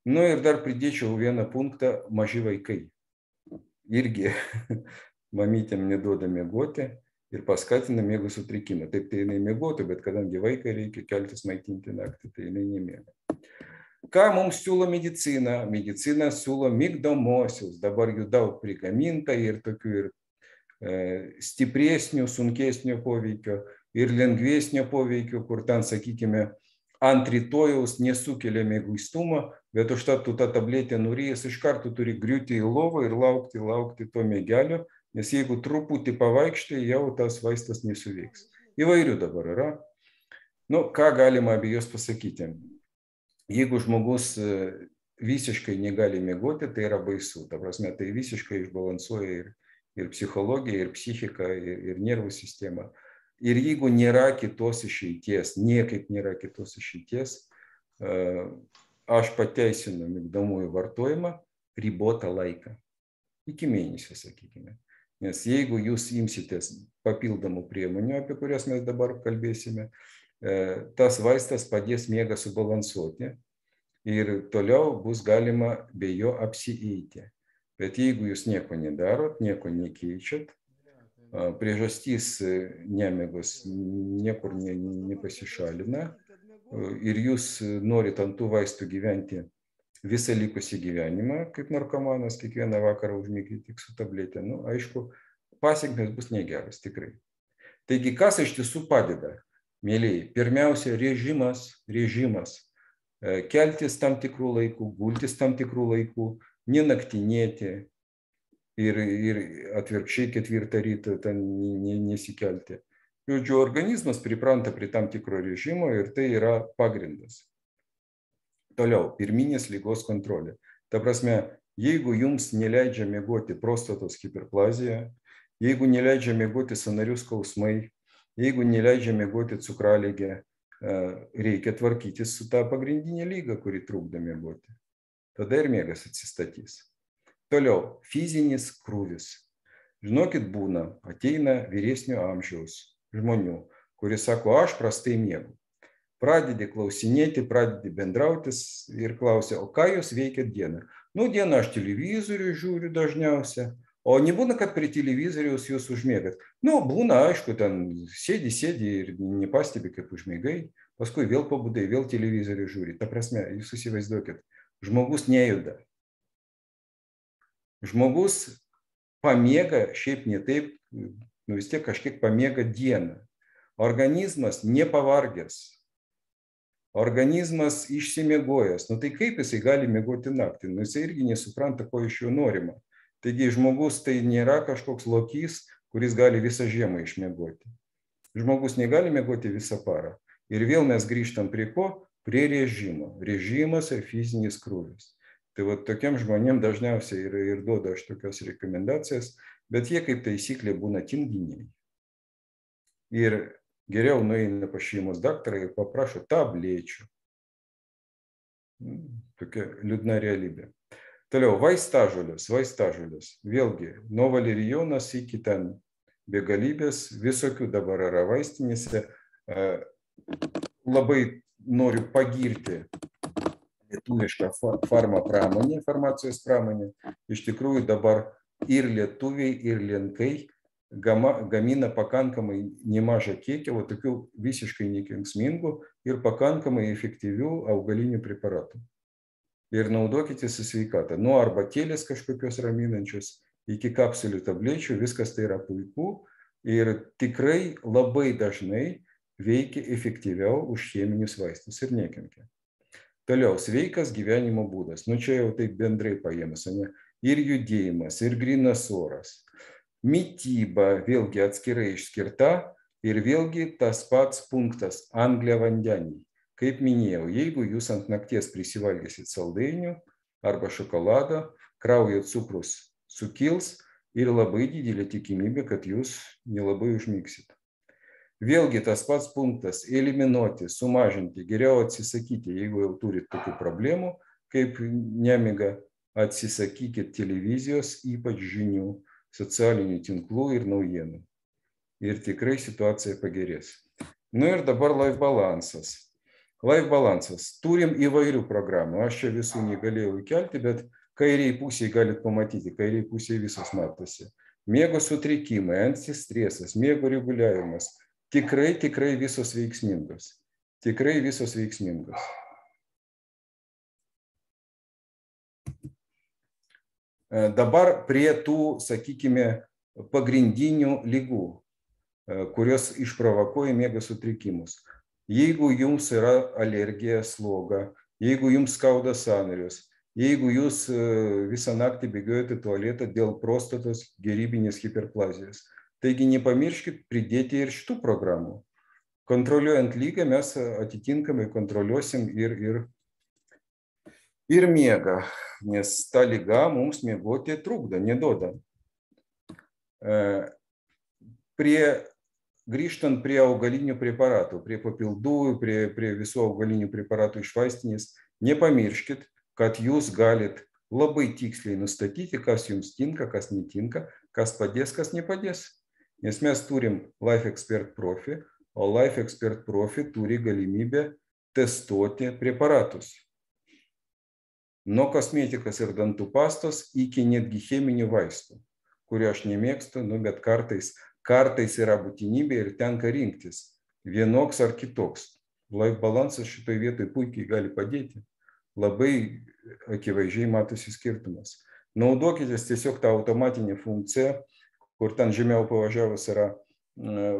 [SPEAKER 1] Nu ir dar pridėčiau vieną punktą, maži vaikai. Irgi mamytėm neduoda miegoti ir paskatina miego sutrikimą. Taip tai jinai miegotų, bet kadangi vaikai reikia keltis maitinti naktį, tai jinai nemiega. Ką mums siūlo medicina? Medicina siūlo migdomosius. Dabar jų daug prigaminta ir tokių ir e, stipresnių, sunkesnių poveikio ir lengvesnio poveikio, kur ten, sakykime, ant rytojaus nesukelia mieguistumą, bet užtat tu tą tabletę norėjęs iš karto turi griūti į lovą ir laukti, laukti to miegelio, nes jeigu truputį pavaikštai, jau tas vaistas nesuveiks. Įvairių dabar yra. Nu, ką galima apie juos pasakyti? Jeigu žmogus visiškai negali miegoti, tai yra baisu. Ta prasme, tai visiškai išbalansuoja ir, ir psichologiją, ir psichiką, ir, ir nervų sistemą. Ir jeigu nėra kitos išeities, niekaip nėra kitos išeities, aš pateisinu migdomųjų vartojimą ribotą laiką. Iki mėnesio, sakykime. Nes jeigu jūs imsitės papildomų priemonių, apie kurias mes dabar kalbėsime, tas vaistas padės miegą subalansuoti ir toliau bus galima be jo apsieiti. Bet jeigu jūs nieko nedarot, nieko nekeičiat, priežastys nemigos niekur ne, nepasišalina ir jūs norit ant tų vaistų gyventi visą likusį gyvenimą, kaip narkomanas, kiekvieną vakarą užmigti tik su tabletė, nu, aišku, pasekmės bus negeras, tikrai. Taigi, kas iš tiesų padeda? Mėlyje, pirmiausia, režimas, režimas, keltis tam tikrų laikų, gultis tam tikrų laikų, nenaktinėti ir, ir atvirkščiai ketvirtą rytą ten nesikelti. Žodžiu, organizmas pripranta prie tam tikro režimo ir tai yra pagrindas. Toliau, pirminės ligos kontrolė. Ta prasme, jeigu jums neleidžia miegoti prostatos hiperplazija, jeigu neleidžia miegoti sąnarių skausmai, jeigu neleidžia miegoti cukralygė, reikia tvarkytis su tą pagrindinė lyga, kuri trukdo miegoti. Tada ir miegas atsistatys. Toliau, fizinis krūvis. Žinokit, būna, ateina vyresnio amžiaus žmonių, kurie sako, aš prastai miegu. Pradedi klausinėti, pradedi bendrautis ir klausia, o ką jūs veikiat dieną? Nu, dieną aš televizorių žiūriu dažniausia. O nebūna, kad prie televizoriaus jūs užmėgat. Nu, būna, aišku, ten sėdi, sėdi ir nepastebi, kaip užmėgai, paskui vėl pabudai, vėl televizorių žiūri. Ta prasme, jūs įsivaizduokit, žmogus nejuda. Žmogus pamiega, šiaip ne taip, nu vis tiek kažkiek pamiega dieną. Organizmas nepavargęs. Organizmas išsimiegojęs. Nu tai kaip jisai gali miegoti naktį? Nu jisai irgi nesupranta, ko iš jo norima. Taigi žmogus tai nėra kažkoks lokys, kuris gali visą žiemą išmiegoti. Žmogus negali miegoti visą parą. Ir vėl mes grįžtam prie ko? Prie režimo. Režimas ir fizinis krūvis. Tai va tokiam žmonėm dažniausiai ir, ir duoda aš tokias rekomendacijas, bet jie kaip taisyklė būna tinginiai. Ir geriau nueina pas šeimos daktarą ir paprašo tablečių. Tokia liūdna realybė. Toliau, vaistažolės, vaistažolės. Vėlgi, nuo valerijonas iki ten begalybės, visokių dabar yra vaistinėse. Labai noriu pagirti lietuvišką farma pramonę, farmacijos pramonę. Iš tikrųjų dabar ir lietuviai, ir lenkai gamina pakankamai nemažą kiekį, o tokių visiškai nekenksmingų ir pakankamai efektyvių augalinių preparatų. Ir naudokite su sveikata. Nuo arbatėlės kažkokios raminančios iki kapsulių tablečių, viskas tai yra puiku ir tikrai labai dažnai veikia efektyviau už cheminius vaistus ir nekenkia. Toliau, sveikas gyvenimo būdas. Nu čia jau taip bendrai paėmus, ne? ir judėjimas, ir grynas oras. Mityba vėlgi atskirai išskirta ir vėlgi tas pats punktas – angliavandeniai. Kaip minėjau, jeigu jūs ant nakties prisivalgysit saldainių arba šokolado, kraujo cukrus sukils ir labai didelė tikimybė, kad jūs nelabai užmigsit. Vėlgi tas pats punktas – eliminuoti, sumažinti, geriau atsisakyti, jeigu jau turit tokių problemų, kaip nemiga, atsisakykit televizijos, ypač žinių, socialinių tinklų ir naujienų. Ir tikrai situacija pagerės. Nu ir dabar life balansas. Life balansas. Turim įvairių programų. Aš čia visų negalėjau įkelti, bet kairiai pusėje galit pamatyti, kairiai pusėje visos matosi. Miego sutrikimai, antistresas, miego reguliavimas. Tikrai, tikrai visos veiksmingos. Tikrai visos veiksmingos. Dabar prie tų, sakykime, pagrindinių ligų, kurios išprovokuoja miego sutrikimus. Jeigu jums yra alergija, sloga, jeigu jums skauda sąnarius, jeigu jūs visą naktį bėgiojate tualetą dėl prostatos gerybinės hiperplazijos. Taigi nepamirškit pridėti ir šitų programų. Kontroliuojant lygą mes atitinkamai kontroliuosim ir, ir, ir miegą, nes ta liga mums miegoti trukdo, neduoda. Prie, grįžtant prie augalinių preparatų, prie papildų, prie, prie visų augalinių preparatų iš vaistinės, nepamirškit, kad jūs galit labai tiksliai nustatyti, kas jums tinka, kas netinka, kas padės, kas nepadės. Nes mes turim Life Expert Profi, o Life Expert Profi turi galimybę testuoti preparatus. Nuo kosmetikos ir dantų pastos iki netgi cheminių vaistų, kurio aš nemėgstu, nu, bet kartais, kartais yra būtinybė ir tenka rinktis vienoks ar kitoks. Life balansas šitoj vietoj puikiai gali padėti. Labai akivaizdžiai matosi skirtumas. Naudokitės tiesiog tą automatinę funkciją, kur ten žemiau pavažiavus yra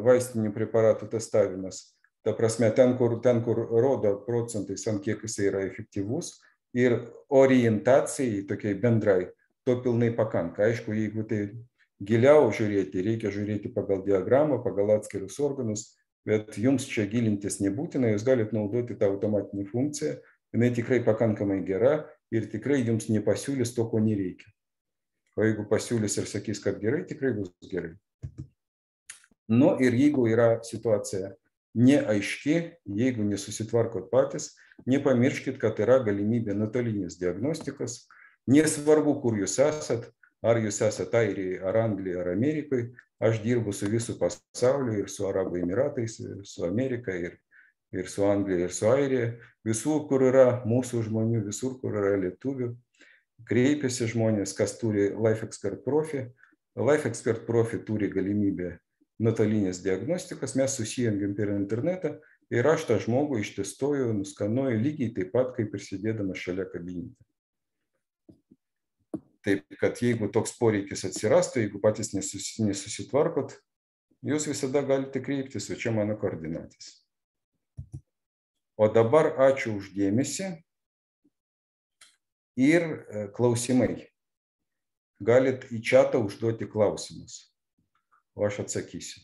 [SPEAKER 1] vaistinių preparatų testavimas. Ta prasme, ten, kur, ten, kur rodo procentais, ant kiek jis yra efektyvus ir orientacijai tokiai bendrai, to pilnai pakanka. Aišku, jeigu tai giliau žiūrėti, reikia žiūrėti pagal diagramą, pagal atskirus organus, bet jums čia gilintis nebūtina, jūs galite naudoti tą automatinę funkciją, jinai tikrai pakankamai gera ir tikrai jums nepasiūlys to, ko nereikia. O jeigu pasiūlys ir sakys, kad gerai, tikrai bus gerai. Nu ir jeigu yra situacija neaiški, jeigu nesusitvarkot patys, nepamirškit, kad yra galimybė nuotolinės diagnostikos. Nesvarbu, kur jūs esat, ar jūs esat Airijoje, ar Anglijoje, ar Amerikoje. Aš dirbu su visų pasauliu ir su Arabų Emiratais, ir su Amerika, ir, ir su Anglija, ir su Airija. Visur, kur yra mūsų žmonių, visur, kur yra lietuvių. Kreipiasi žmonės, kas turi Life Expert Profi. Life Expert Profi turi galimybę nuotolinės diagnostikos, mes susijungiam per internetą ir aš tą žmogų ištestuoju, nuskanuoju lygiai taip pat, kaip ir sėdėdamas šalia kabinete. Taip, kad jeigu toks poreikis atsirastų, jeigu patys nesusitvarkot, jūs visada galite kreiptis, o čia mano koordinatės. O dabar ačiū už dėmesį. Ir klausimai. Galit į čatą užduoti klausimus, o aš atsakysiu.